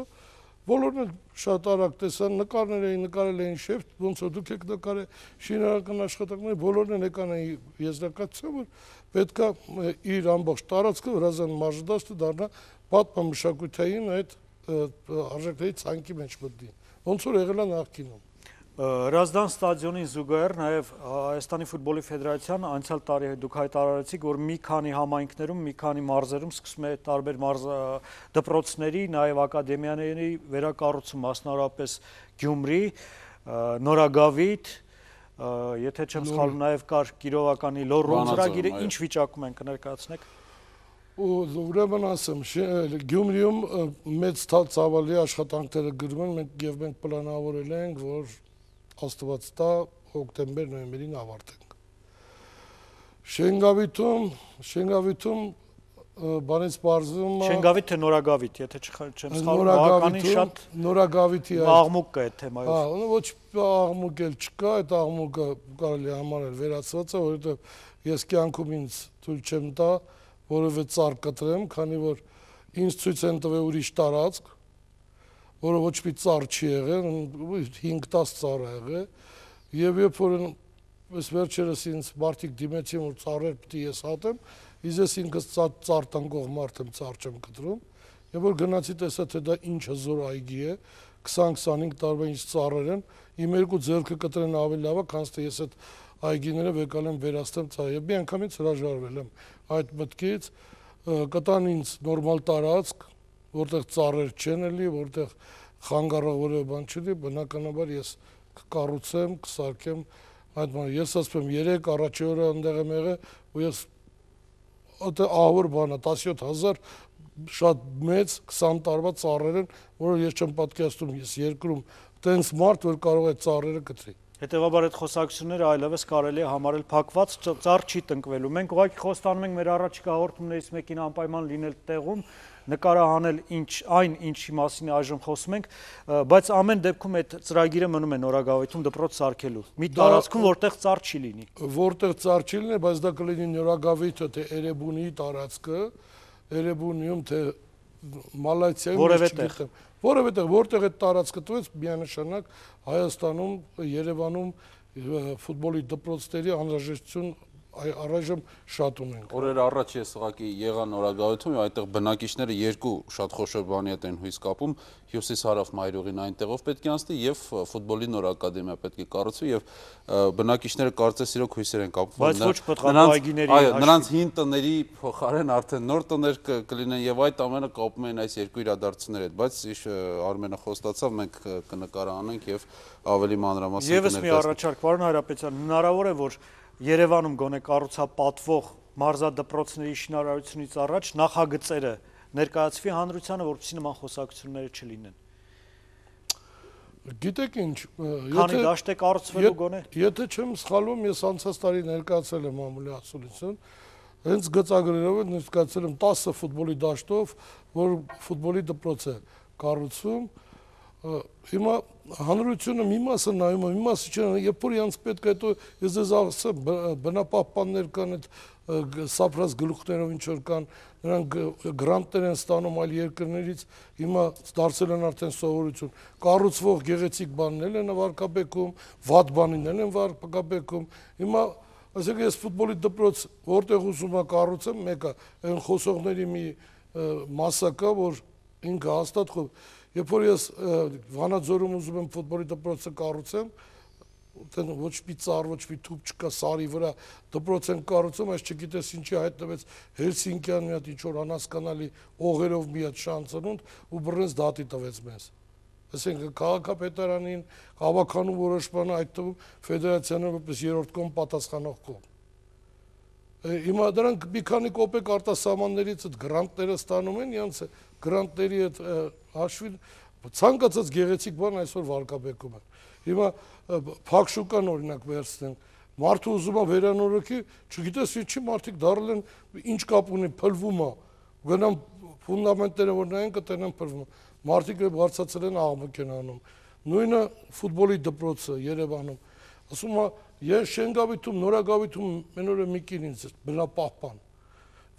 բոլորն էլ շատ արագ տեսան, նկարներ էին, նկարել էին շեֆ, ոնց որ դուք եք նկարել շինարարական աշխատանքները, բոլորն էլ եկան այն եզրակացության, որ պետքա իր ամբողջ տարածքը Հրազդան մարզադաշտը դառնա պատմամշակութային այդ արժեքների ցանկի մեջ մտնի, ոնց որ եղել է նախկինում։ Հրազդան ստադիոնին զուգահեռ նաև Հայաստանի ֆուտբոլի ֆեդերացիան անցյալ տարի դուք հայտարարեցիք, որ մի քանի համայնքներում, մի քանի մարզերում սկսում է տարբեր դպրոցների, նաև ակադեմիաների վերակառուցում, մասնավորապես Գյումրի, Նորագավիթ, եթե չեմ սխալվում, նաև կար Կիրովականի Լոռու ծրագիրը, ինչ վիճակում են կներկայացնեք։ Ուրեմն ասեմ, Գյումրիում մեծ ցավալի աշխատանքները գրվում են եւ մենք պլանավորել ենք, որ Աստված տա հոկտեմբեր-նոյեմբերին ավարտենք։ Շենգավիթում բանից բարձում է Շենգավիթ թե Նորագավիթ, եթե չեմ սխալվում, բավականին շատ Նորագավիթի աղմուկ կա այդ թեմայով։ Հա, ոչ աղմուկ էլ չկա, այդ աղմուկը կարելի համարել վերացված է, որովհետեւ ես կյանքում ինձ թույլ չեմ տա որևէ ծառ կտրեմ, քանի որ ինձ ցույց են տվել ուրիշ տարածք, որը ոչ մի ծառ չի եղել, 5-10 ծառ է եղել, եւ երբ որ այս վերջերս ինձ մարդիկ դիմեցին, որ ծառեր պետք է ես հատեմ, ես ինքս ծառ տնկող մարդ եմ, ծառ չեմ կտրում, եւ որ գնացի տեսա, թե դա ինչ հզոր այգի է, 20-25 տարվա ինչ ծառեր են, իմ երկու ձեռքը կտրեն ավելի լավ է, քան թե ես այդ այգիները եկալ եմ վերաստեմ ծառ, եւ մի անգամից հրաժարվել եմ այդ մտքից, կտան ինձ նորմալ տարածք, որտեղ ծառեր չեն էլի, որտեղ խանգարող որևէ բան չլինի, բնականաբար ես կկառուցեմ, կսարքեմ այդ բանը։ Ես ասում եմ 3 առաջի օրը այնտեղ եմ եղել, ու ես այդ ահավոր բանը 17000 շատ մեծ 20 տարվա ծառեր են, որը ես չեմ պատկերացնում, ես երկրում տենց մարդ, որ կարող է ծառերը կտրի։ Հետևաբար այդ խոսակցությունները այլևս կարելի է համարել փակված, ծառ չի տնկվելու։ Մենք ուղղակի խոստանում ենք մեր առաջիկա հաղորդումներից մեկին անպայման լինել տեղում, նկարահանել այն ինչի մասին այժմ խոսում ենք, բայց ամեն դեպքում այդ ծրագիրը մնում է Նորագավիթում դպրոց սարքելու։ Մի տարածքում, որտեղ ծառ չի լինի։ Որտեղ ծառ չի լինի, բայց դա կլինի Նորագավիթը թե Էրեբունի տարածքը, Էրեբունիում թե Մալայցիայում չգիտեմ, որովհետև որտեղ է տարածքը տվեց, միանշանակ Հայաստանում, Երևանում ֆուտբոլի դպրոցների անհրաժեշտություն առայժմ շատ ունենք։ Օրեր առաջ ես ուղղակի եղա նորագահություն, այդտեղ բնակիչները երկու շատ խոշոր բանի հետ են հույս կապում, հյուսիս-հարավ մայրուղին այնտեղով պետք է անցնի եւ ֆուտբոլի նոր ակադեմիա պետք է կառուցվի եւ բնակիչները կարծես իրոք հույսեր են կապում, բայց ոչ պտղապահայգիների նրանց հին տների փոխարեն արդեն նոր տներ կլինեն եւ այդ ամենը կապում են այս երկու իրադարձությունների հետ, բայց Արմենը խոստացավ, մենք կնկարանանք եւ ավելի մանրամասն Եվս մի առաջարկ, պարոն Հայրապետյան, հնարավոր է որ Երևանում գոնե կառուցապատվող մարզադպրոցների շինարարությունից առաջ նախագծերը ներկայացվի հանրությանը, որպեսզի նման խոսակցությունները չլինեն։ Գիտեք ինչ, քանի դաշտ է կառուցվելու գոնե։ Եթե չեմ սխալվում, ես անցած տարի ներկայացել եմ մամուլի ասուլիսին, հենց գծագրերով ներկայացել եմ 10 ֆուտբոլի դաշտով, որ ֆուտբոլի դպրոց է կառուցվում։ Հիմա հանրությունը մի մասը նայում է, մի մասը չէ, երբ որ իրանց պետք է հետո ես ձեզ ասեմ, բնապահպաններ կան, այդ սափրած գլուխներով ինչ որ կան, նրանք գրանտներ են ստանում այլ երկրներից, հիմա դարձել են արդեն սովորություն, կառուցվող գեղեցիկ բաններ են վարկաբեկում, վատ բանիներ են վարկաբեկում, հիմա ասեք ես ֆուտբոլի դպրոց որտեղ ուզում եմ կառուցեմ, մեկը այն խոսողների մի մասա կա, որ ինքը հաստատ Երբ որ ես Վանաձորում ուզում եմ ֆուտբոլի դպրոցը կառուցեմ, ոչ մի ծառ, ոչ մի թուփ չկա սարի վրա, դպրոց են կառուցում, այս չգիտես ինչի հայտնվեց Հելսինկյան մի հատ ինչ-որ անհասկանալի օղերով մի հատ շանցնունդ ու բռնեց դատի տվեց մեզ։ Այսինքն քաղաքապետարանին, հավաքանու որոշմանը, այդ թվում ֆեդերացիան որպես երրորդ կողմ պատասխանող կողմ։ Հիմա դրանք մի քանի կոպեկ արտասահմաններից այդ գրանտները ստանում են, իրանց գրանտների հետ հաշվին ցանկացած գեղեցիկ բան այսօր վարկաբեկում են։ Հիմա փակ շուկան օրինակ վերցնենք, մարդը ուզում է վերանորոգի, չգիտես ինչի մարդիկ դառել են, ինչ կապ ունի, փլվում է, գնամ ֆունդամենտները որ նայեն կտենան փլվում։ Մարդիկ բարձրացել են աղմուկ են անում։ Նույնը ֆուտբոլի դպրոցը Երևանում, ասում է Ես Շենգավիթում, Նորագավիթում մենօրը մի կին ինձ բնապահպան,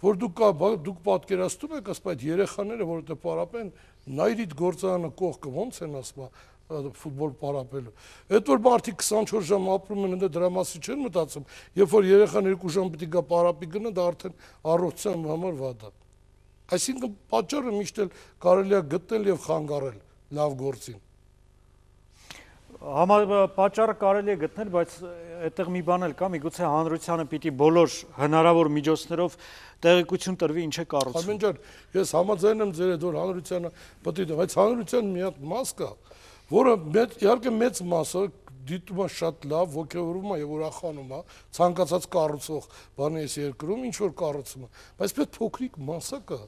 որ դուք պատկերացնում եք, ասում այդ երեխաները, որովհետև պարապեն, նայրիդ գործարանը կողքը ոնց են ասում ֆուտբոլ պարապելու։ Այդ որ մարդիկ 24 ժամ ապրում են, դրա մասի չեն մտածում, երբ որ երեխան 2 ժամ պիտի գա պարապի գնա, դա արդեն առողջության համար վատ է։ Այսինքն պատճառը միշտ էլ կարելի է գտնել եւ խանգարել լավ գործին։ Պատճառը կարելի է գտնել, բայց այդտեղ մի բան էլ կա, միգուցե հանրությանը պիտի բոլոր հնարավոր միջոցներով տեղեկություն տրվի ինչ է կառուցվում։ Արմեն ջան, ես համաձայն եմ ձեր հետ, որ հանրությանը պետք է, բայց հանրության մի հատ մաս կա, որը իհարկե մեծ մասը դիտում է շատ լավ, ոգևորվում է եւ ուրախանում է, ցանկացած կառուցող բանի այս երկրում ինչ որ կառուցում է, բայց պետք փոքրիկ մասը կա,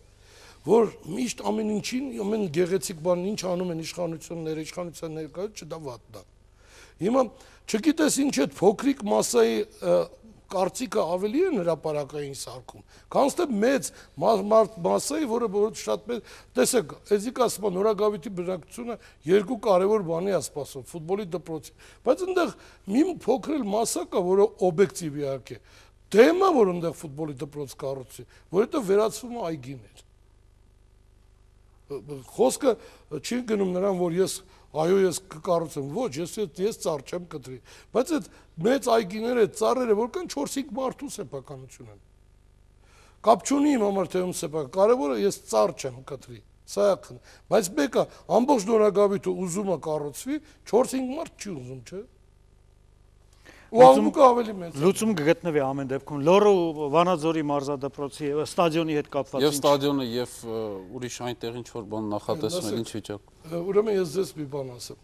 որ միշտ ամեն ինչին, ամեն գեղեցիկ բանն ինչ անում են իշխանությունները, իշխանության ներկայացուցիչը դա վատն է։ Հիմա չգիտես ինչ այդ փոքրիկ մասայի կարծիքը ավելի է հրապարակային սարքում, քան թե մեծ մասայի, որը շատ մեծ, տեսեք, էզիկ ասում են Նորագավիթի բնակչությունը երկու կարևոր բանի է սպասում, ֆուտբոլի դպրոցի, բայց այնտեղ մի փոքր մասա կա, որը օբյեկտիվ իհարկե, դեմ է, որ այնտեղ ֆուտբոլի դպրոց կառուցվի, որովհետև վերածվում է այգիներ։ Խոսքը չի գնում նրան, որ ես կկառուցեմ, ոչ, ես ծառ չեմ կտրի, բայց այդ մեծ այգիները, ծառերը, որ կան 4-5 մարդու սեփականություն են։ Կապ չունի իմ համար թե ում սեփական, կարևորը ես ծառ չեմ կտրի, սա է խնդիրը, բայց մեկը ամբողջ Նորագավիթը ուզում է կառուցվի, 4-5 մարդ չի ուզում, չէ՞։ Ու աղմուկը ավելի մեծ է։ Լուծում կգտնվի ամեն դեպքում։ Լոռու Վանաձորի մարզադպրոցի ստադիոնի հետ կապված Եվ ստադիոնը եւ ուրիշ այնտեղ ինչ որ բան նախատեսում են, ինչ վիճակ։ Ուրեմն ես ձեզ մի բան ասեմ։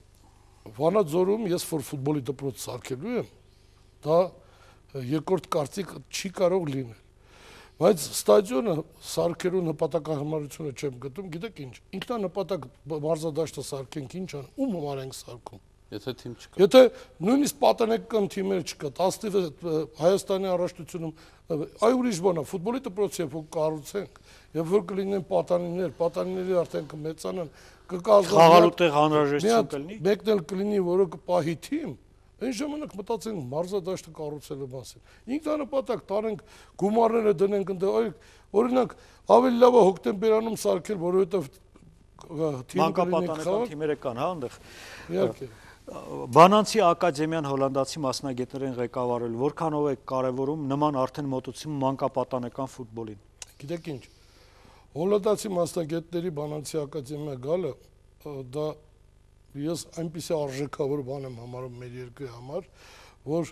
Վանաձորում ես որ ֆուտբոլի դպրոց սարքելու եմ, դա երկրորդ կարծիք չի կարող լինել։ Բայց ստադիոնը սարքելու նպատակահարմարությունը չեմ գտնում, գիտեք ինչ։ Ինքնանպատակ մարզադաշտը սարքենք ինչ ան, ում համար ենք սարքում։ Եթե թիմ չկա։ Եթե նույնիսկ պատանեկական թիմեր չկա, 10 Հայաստանի առաջնությունում, այ ուրիշ բան է, ֆուտբոլի դպրոց երբ որ կառուցենք, երբ որ կլինեն պատանիների արդեն կմեծանան, խաղալու տեղ անհրաժեշտություն կլինի։ Մեկն էլ կլինի, որը կպահի թիմ, Այն ժամանակ մտածենք մարզադաշտը կառուցելու մասին։ Ինքնանպատակ տարենք գումարները դնենք այնտեղ, օրինակ ավելի լավ է հոկտեմբերանում սարքել, որովհետև մանկապատանեկան թիմերը կան, հա, այնտեղ։ Իհարկե։ Բանանցի ակադեմիան հոլանդացի մասնագետներին ղեկավարել, որքանով է կարևորում նման արդեն մոտեցում մանկապատանեկան ֆուտբոլին։ Գիտեք ինչ, հոլանդացի մասնագետների Բանանցի ակադեմիա գալը դա ես այնպիսի արժեքավոր բան եմ համարում մեր երկրի համար, որ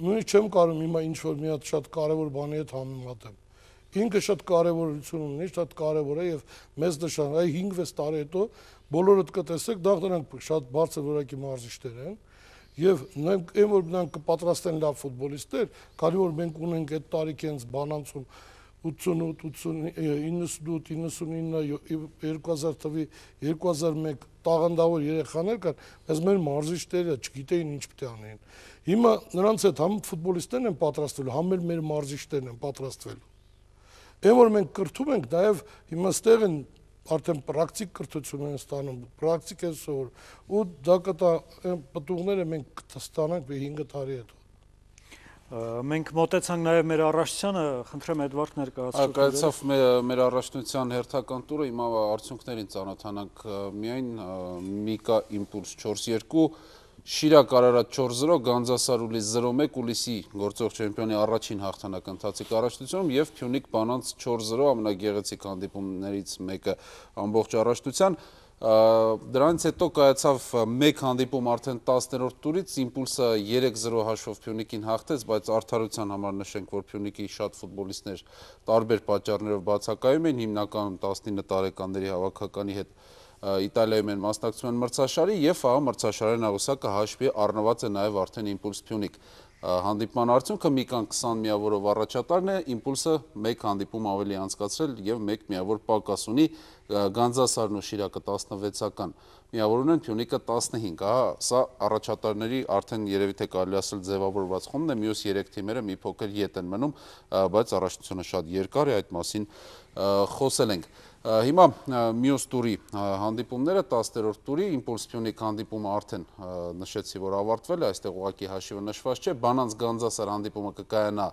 նույնիսկ չեմ կարող հիմա ինչ-որ մի հատ շատ կարևոր բանի հետ համեմատեմ։ Ինքը շատ կարևորություն ունի, շատ կարևոր է եւ մեզ նշան, այ 5-6 տարի հետո բոլորդ կտեսեք, դա նրանք շատ բարձր որակի մարզիչներ են եւ նրանք այն որ նրանք կպատրաստեն լավ ֆուտբոլիստներ, քանի որ մենք ունենք այդ տարիքի հենց Բանանցում 88, 98, 99, 2000 թվի 2001 տաղանդավոր երեխաներ կան, բայց մեր մարզիչները չգիտեին ինչ պետք է անեն։ Հիմա նրանց հետ համ ֆուտբոլիստներն են պատրաստվելու, համ մեր մարզիչներն են պատրաստվելու։ Այն որ մենք կրթում ենք, նաև հիմա ստեղ են արդեն պրակտիկ կրթություն են ստանում, պրակտիկ են սովոր, ու դա կտա պտուղները մենք կստանանք 5 տարի հետո։ Մենք մոտեցանք նաև մեր առողջությանը, խնդրեմ Էդվարդ ներկայացրեք։ Կայացավ մեր առողջության հերթական տուրը, հիմա արդյունքներին ծանոթանանք միայն Միկա Իմպուլս 4-2, Շիրակ Արարատ 4-0, Գանձասար Ուլիս 0-1, Ուլիսի գործող չեմպիոնի առաջին հաղթանակ ընթացիկ առաջնությունում եւ Փյունիկ Բանանց 4-0 ամենագեղեցիկ հանդիպումներից մեկը ամբողջ առաջնության։ Դրանից հետո կայացավ մեկ հանդիպում արդեն 10-րդ տուրից, Իմպուլսը 3-0 հաշվով Փյունիկին հաղթեց, բայց արդարության համար նշենք, որ Փյունիկի շատ ֆուտբոլիստներ տարբեր պատճառներով բացակայում են, հիմնականում 19 տարեկանների հավաքականի հետ Իտալիայում են մասնակցում են մրցաշարի եւ ահա մրցաշարի նավոսակը հաշվի առնված է նաեւ արդեն Իմպուլս Փյունիկ հանդիպման արդյունքը Միկան 20 միավորով առաջատարն է, Իմպուլսը մեկ հանդիպում ավելի անցկացրել եւ մեկ միավոր պակաս ունի, Գանձասարն ու Շիրակը 16-ական միավոր ունեն, Փյունիկը 15, ահա սա առաջատարների արդեն երևի թե կարելի ասել ձևավորված խումբն է, մյուս 3 թիմերը մի փոքր ետ են մնում, բայց առաջնությունը շատ երկար է, այդ մասին խոսել ենք։ Հիմա մյուս տուրի հանդիպումները 10-րդ տուրի Իմպուլս Փյունիկ հանդիպումը արդեն նշեցի, որ ավարտվել է, այստեղ ուղղակի հաշիվը նշված չէ, Բանանց Գանձասար հանդիպումը կկայանա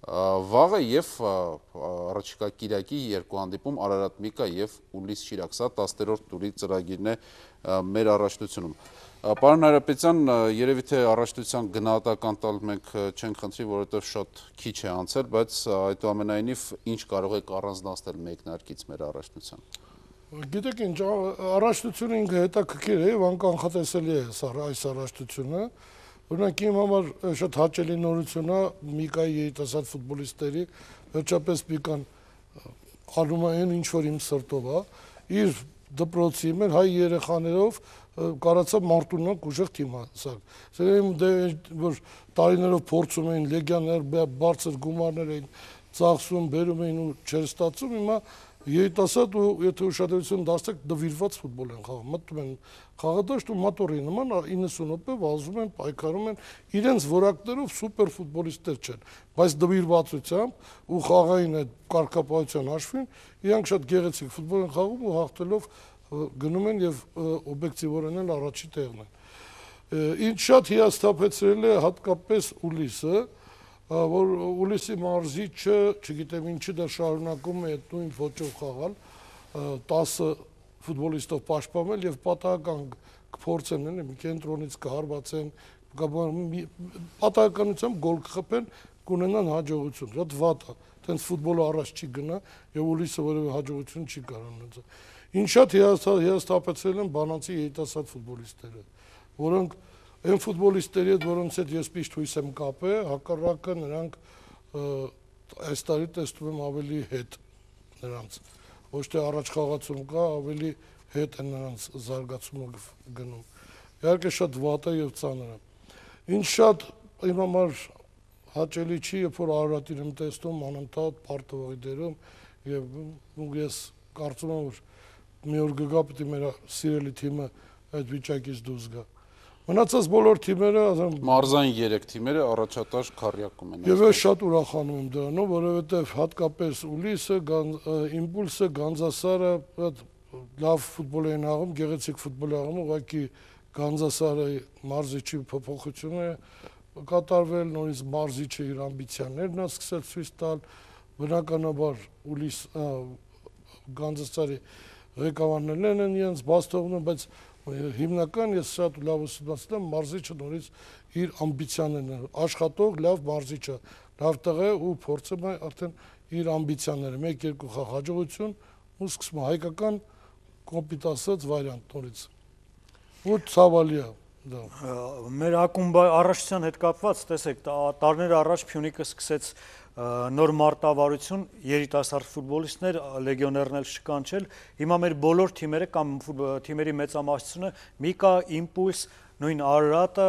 վաղը եւ առաջիկա կիրակի երկու հանդիպում Արարատ Միկա եւ Ուլիս Շիրակ, սա 10-րդ տուրի ծրագիրն է մեր առաջնությունում։ Պարոն Հայրապետյան, երևի թե առաջնության գնահատական տալ մենք չենք խնդրի, որովհետև շատ քիչ է անցել, բայց այդուամենայնիվ ինչ կարող եք առանձնացնել մեկնարկից մեր առաջնության։ Գիտեք ինչ, առաջնությունը ինքը հետաքրքիր է եւ անկանխատեսելի է այս առաջնությունը։ Օրինակ իմ համար շատ հաճելի նորություն է Միկայի երիտասարդ ֆուտբոլիստերի, վերջապես Միկան անում է այն ինչ որ իմ սրտով է, իր դպրոցի մեր հայ երեխաներով կարացավ Մարտունակ ուժեղ թիմ հասակ։ Որ տարիներով փորձում էին լեգիաներ, բարձր գումարներ էին ծախսում, բերում էին ու չեր ստացում, հիմա երիտասարդ ու եթե ուշադրություն դարձեք դվիրված ֆուտբոլ են խաղում, մտնում են խաղադաշտ ու մատորի նման 90 րոպե վազում են, պայքարում են, իրենց որակներով սուպեր ֆուտբոլիստներ չեն, բայց դվիրվածությամբ ու խաղային այդ կարգապահության հաշվին իրանք շատ գեղեցիկ ֆուտբոլ են խաղում ու հաղթելով գնում են եւ օբյեկտիվորեն էլ առաջի տեղն են։ Ինչ շատ հիասթափեցրել է հատկապես Ուլիսը, որ Ուլիսի մարզիչը, չգիտեմ ինչի դա շարունակում է այդ նույն ոճով խաղալ, 10 ֆուտբոլիստով պաշտպանել եւ պատահական կփորձեն մի կենտրոնից կհարվածեն, պատահականությամբ գոլ կխփեն, կունենան հաջողություն։ Շատ վատ է, տենց ֆուտբոլը առաջ չի գնա եւ Ուլիսը որևէ հաջողություն չի կարող ունենալ։ Ինչ շատ հիասթափեցրել են Բանանցի երիտասարդ ֆուտբոլիստները, որոնք այն ֆուտբոլիստերի հետ, որոնց հետ ես միշտ հույս եմ կապել, հակառակը նրանք այս տարի տեսնում եմ ավելի հետ նրանց, ոչ թե առաջ խաղացում կա, ավելի հետ են նրանց զարգացումը գնում։ Իհարկե շատ վատ է եւ ծանր է։ Ինչ շատ իմ համար հաճելի չի, երբ որ Արարատին եմ տեսնում անընդհատ պարտվողի դերում եւ ես կարծում եմ, որ մի օր կգա պիտի մեր սիրելի թիմը այդ վիճակից դուրս գա։ Մնացած բոլոր թիմերը, մարզային 3 թիմերը առաջատար քառյակում են։ Եվ ես շատ ուրախանում եմ դրանով, որովհետև հատկապես Ուլիսը, Իմպուլսը, Գանձասարը լավ ֆուտբոլ են աղում, գեղեցիկ ֆուտբոլ աղում, ուղղակի Գանձասարի մարզիչի փոփոխությունը կատարվել, նորից մարզիչը իր ամբիցիաներն է սկսել ցույց տալ, բնականաբար Ուլիս Գանձասարի ղեկավարներն են իրենց բաց թողնում, բայց հիմնական ես շատ լավ ուսումնասիրել եմ, մարզիչը նորից իր ամբիցիաներն աշխատող լավ մարզիչը, լավ տղա է ու փորձում է արդեն իր ամբիցիաները, 1-2 խաղ հաջողություն ու սկսում է հայկական կոպիտ ասած վարիանտ նորից։ Ու ցավալի է դա։ Մեր ակումբի առաջության հետ կապված, տեսեք, տարիներ առաջ Փյունիկը սկսեց նոր մարտավարություն, երիտասարդ ֆուտբոլիստներ, լեգիոներներ շկանչել։ Հիմա մեր բոլոր թիմերը կամ թիմերի մեծամասնությունը Միկա, Իմպուլս, նույն Արարատը,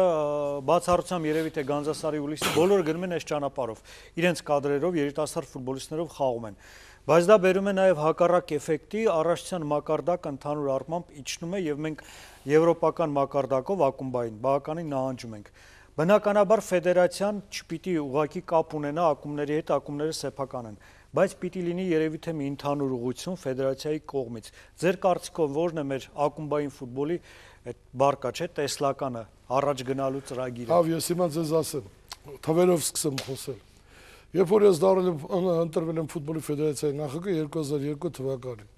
բացառությամբ երևի թե Գանձասարի Ուլիսը բոլորը գնում են այս ճանապարհով։ Իրենց կադրերով երիտասարդ ֆուտբոլիստներով խաղում են։ Բայց դա բերում է նաև հակառակ էֆեկտի, առաջության մակարդակը ընդհանուր առմամբ իջնում է եւ մենք եվրոպական մակարդակով ակումբային բավականին նահանջում ենք։ Բնականաբար ֆեդերացիան չպիտի ուղղակի կապ ունենա ակումբների հետ, ակումբները սեփական են, բայց պիտի լինի երևի թե մի ընդհանուր ուղղություն ֆեդերացիայի կողմից։ Ձեր կարծիքով ո՞րն է մեր ակումբային ֆուտբոլի այդ բարկա, չէ, տեսլականը, առաջ գնալու ծրագիրը։ Հավ, ես հիմա ձեզ ասեմ, թվերով սկսեմ խոսել։ Երբ որ ես ընտրվել եմ ֆուտբոլի ֆեդերացիայի նախագահ 2002 թվականին,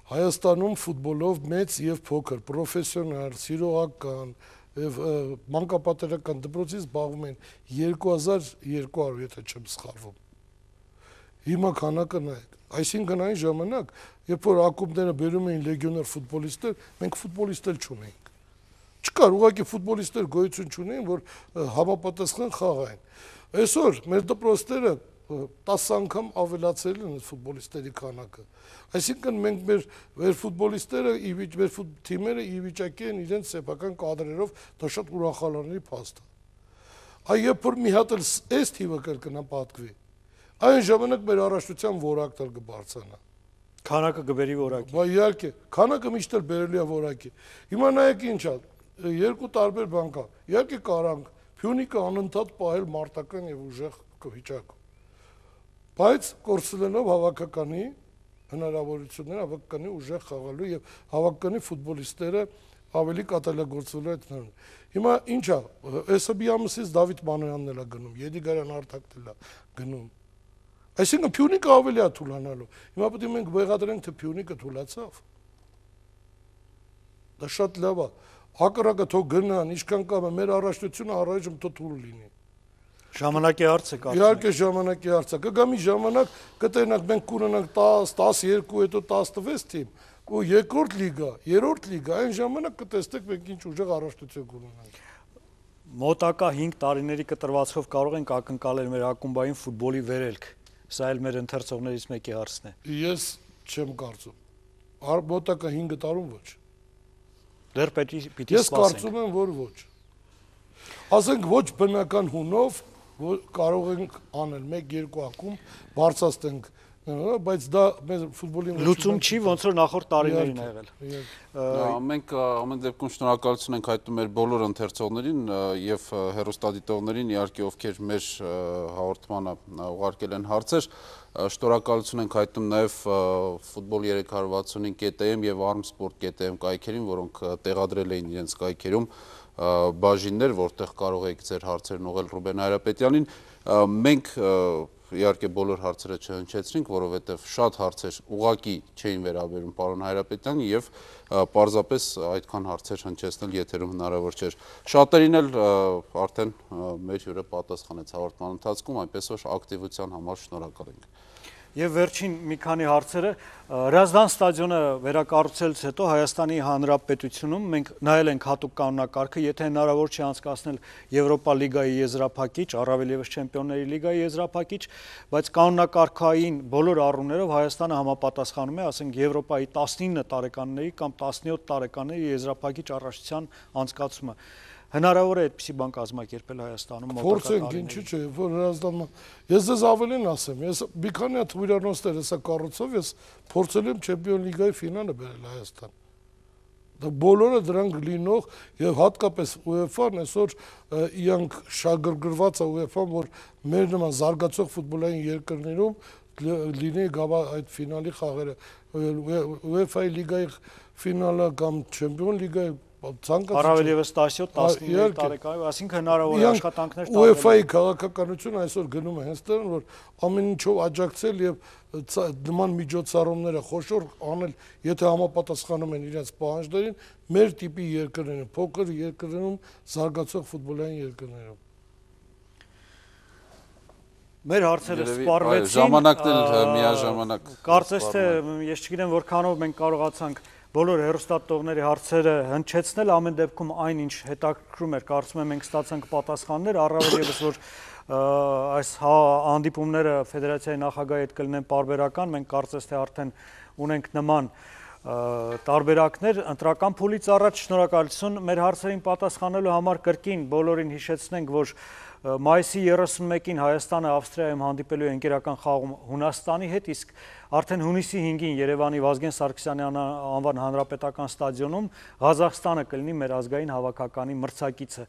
Հայաստանում ֆուտբոլով մեծ եւ փոքր, պրոֆեսիոնալ, սիրողական եւ մանկապատերական դպրոցից զբաղվում են 2200, եթե չեմ սխալվում։ Հիմա քանակը նայեք, այսինքն այն ժամանակ, երբ որ ակումբները բերում էին լեգիոներ ֆուտբոլիստներ, մենք ֆուտբոլիստներ չունեինք։ Չկար, ուղղակի ֆուտբոլիստներ գոյություն չունեին, որ համապատասխան խաղային։ Այսօր մեր դպրոցները 10 անգամ ավելացել են ֆուտբոլիստների քանակը։ Այսինքն մենք մեր ֆուտբոլիստները, մեր թիմերը ի վիճակի են իրենց սեփական կադրերով, դա շատ ուրախալի փաստ է։ Այ երբ որ մի հատ էլ այս թիվը կրկնապատկվի, այն ժամանակ մեր առաջնության որակը կբարձրանա։ Քանակը կբերի որակի։ Բա իհարկե, քանակը միշտ էլ բերելի է որակի։ Հիմա նայեք ինչ է, երկու տարբեր բան կա։ Իհարկե կարանք Փյունիկը անընդհատ պահել մարտական եւ ուժեղ վիճակում։ Բայց կորցնելով հավաքականի հնարավորությունները, հավաքականի ուժեղ խաղալու եւ հավաքականի ֆուտբոլիստները ավելի կատարելագործվելու են։ Հիմա ինչ է, այսը մի ամսից Դավիթ Մանոյանն էլ է գնում, Եդիգարյան Արտակն էլ է գնում։ Այսինքն Փյունիկը ավելի է թուլանալու։ Հիմա պետք է մենք վեղադրենք, թե Փյունիկը թուլացավ։ Դա շատ լավ է։ Հակառակը թող գնան, ինչքան կամը մեր առաջնությունը առայժմ թույլ լինի։ Ժամանակի հարց է կարծում։ Իհարկե ժամանակի հարց է։ Կգա մի ժամանակ կտենանք մենք կունենանք 10, 12, հետո 16 թիմ ու երկրորդ լիգա, երրորդ լիգա, այն ժամանակ կտեսնեք մենք ինչ ուժեղ առաջնություն կունենանք։ Մոտակա 5 տարիների կտրվածքով կարող ենք ակնկալել մեր ակումբային ֆուտբոլի վերելք։ Սա էլ մեր ընթերցողներից մեկի հարցն է։ Ես չեմ կարծում։ Մոտակա 5 տարում ոչ։ Դեռ պիտի սպասենք։ Ես կարծում եմ, որ ոչ։ Ասենք ոչ բնական հունով կարող ենք անել 1-2 ակումբ, բարձրացնենք, բայց դա մեր ֆուտբոլի լուծում չի, ոնց որ նախորդ տարիներին ա եղել։ Մենք ամեն դեպքում շնորհակալություն ենք հայտնում մեր բոլոր ընթերցողներին եւ հեռուստադիտողներին, իհարկե ովքեր մեր հաղորդմանը ուղարկել են հարցեր, շնորհակալություն ենք հայտնում նաեւ ֆուտբոլ 365.am եւ armsport.am կայքերին, որոնք տեղադրել էին իրենց կայքերում բաժիններ, որտեղ կարող եք ձեր հարցերն ուղղել Ռուբեն Հայրապետյանին։ Մենք իհարկե բոլոր հարցերը չհնչեցրինք, որովհետև շատ հարցեր ուղղակի չէին վերաբերում պարոն Հայրապետյանին եւ պարզապես այդքան հարցեր հնչեցնել եթերում հնարավոր չէր։ Շատերին էլ արդեն մեր հյուրը պատասխանեց հաղորդման ընթացքում, այնպես որ ակտիվության համար շնորհակալ ենք։ Եվ վերջին մի քանի հարցերը, Հրազդան ստադիոնը վերակառուցելուց հետո Հայաստանի Հանրապետությունում մենք նայել ենք հատուկ կանոնակարգը, եթե հնարավոր չի անցկացնել Եվրոպա լիգայի եզրափակիչ, առավել ևս Չեմպիոնների լիգայի եզրափակիչ, բայց կանոնակարգային բոլոր առումներով Հայաստանը համապատասխանում է, ասենք Եվրոպայի 19 տարեկանների կամ 17 տարեկանների եզրափակիչ առաջության անցկացումը։ Հնարավոր է այդպիսի բան կազմակերպել Հայաստանում մոտակա տարիներին։ Փորձենք, ինչու՞ չէ, որ Հրազդանը ես ձեզ ավելին ասեմ, ես մի քանի հատ հյուրընոստեր հեսա կառուցով ես փորձել եմ Չեմպիոն լիգայի ֆինալը բերել Հայաստան։ Դա բոլորը դրանք լինող եւ հատկապես UEFA-ն այսօր իրանք շագրգռված է UEFA-ն, որ մեր նման զարգացող ֆուտբոլային երկրներում լինի այդ ֆինալի խաղերը UEFA-ի լիգայի ֆինալը կամ Չեմպիոն լիգայի Առավել եւս 17-11 տարեկան, այսինքն հնարավոր է աշխատանքներ տարբեր։ UEFA-ի քաղաքականությունը այսօր գնում է հենց դրան, որ ամեն ինչով աջակցել եւ նման միջոցառումները խոշոր անել, եթե համապատասխանում են իրենց պահանջներին, մեր տիպի երկրներում, փոքր երկրներում, զարգացող ֆուտբոլային երկրներում։ Մեր հարցերը սպառվեցին, ժամանակն էլ միաժամանակ։ Կարծես թե ես չգիտեմ որքանով մենք կարողացանք բոլոր հեռուստատողների հարցերը հնչեցնել, ամեն դեպքում այն ինչ հետաքրքրում էր, կարծում եմ մենք ստացանք պատասխաններ, առավել եւս որ այս հանդիպումները ֆեդերացիայի նախագահի հետ կլինեն պարբերական, մենք կարծես թե արդեն ունենք նման տարբերակներ, ընտրական փուլից առաջ շնորհակալություն մեր հարցերին պատասխանելու համար կրկին բոլորին հիշեցնենք, որ մայիսի 31-ին Հայաստանը Ավստրիայում հանդիպելու է ընկերական խաղում Հունաստանի հետ, իսկ արդեն հունիսի 5-ին Երևանի Վազգեն Սարգսյանի անվան հանրապետական ստադիոնում Ղազախստանը կլինի մեր ազգային հավաքականի մրցակիցը։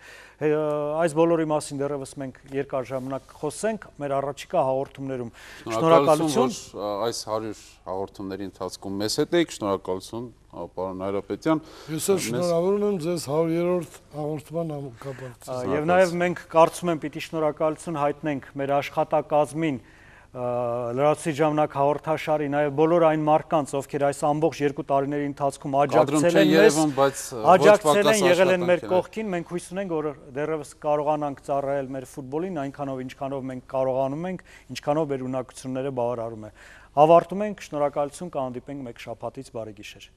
Այս բոլորի մասին դեռևս մենք երկար ժամանակ խոսենք մեր առաջիկա հաղորդումներում։ Շնորհակալություն, որ այս 100 հաղորդումների ընթացքում մեզ հետ եք, շնորհակալություն պարոն Հայրապետյան։ Ես էլ շնորհավորում եմ ձեզ 100-րդ հաղորդման կապակցությամբ։ Եվ նաև մենք կարծում եմ պիտի շնորհակալություն հայտնենք մեր աշխատակազմին, լրացուցիչ ժամանակ հաղորդաշարի, նաև բոլոր այն մարդկանց, ովքեր այս ամբողջ 2 տարիների ընթացքում աջակցել են մեզ, աջակցել են, եղել են մեր կողքին, մենք հույս ունենք, որ դեռևս կարողանանք ծառայել մեր ֆուտբոլին այնքանով, ինչքանով մենք կարողանում ենք, ինչքանով մեր ունակությունները բավարարում է։ Ավարտում ենք, շնորհակալություն, կհանդիպենք մեկ շաբաթից, բարի գիշեր։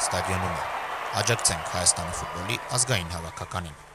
Ստադիոնում է։ Աջակցենք Հայաստանի ֆուտբոլի ազգային հավաքականին։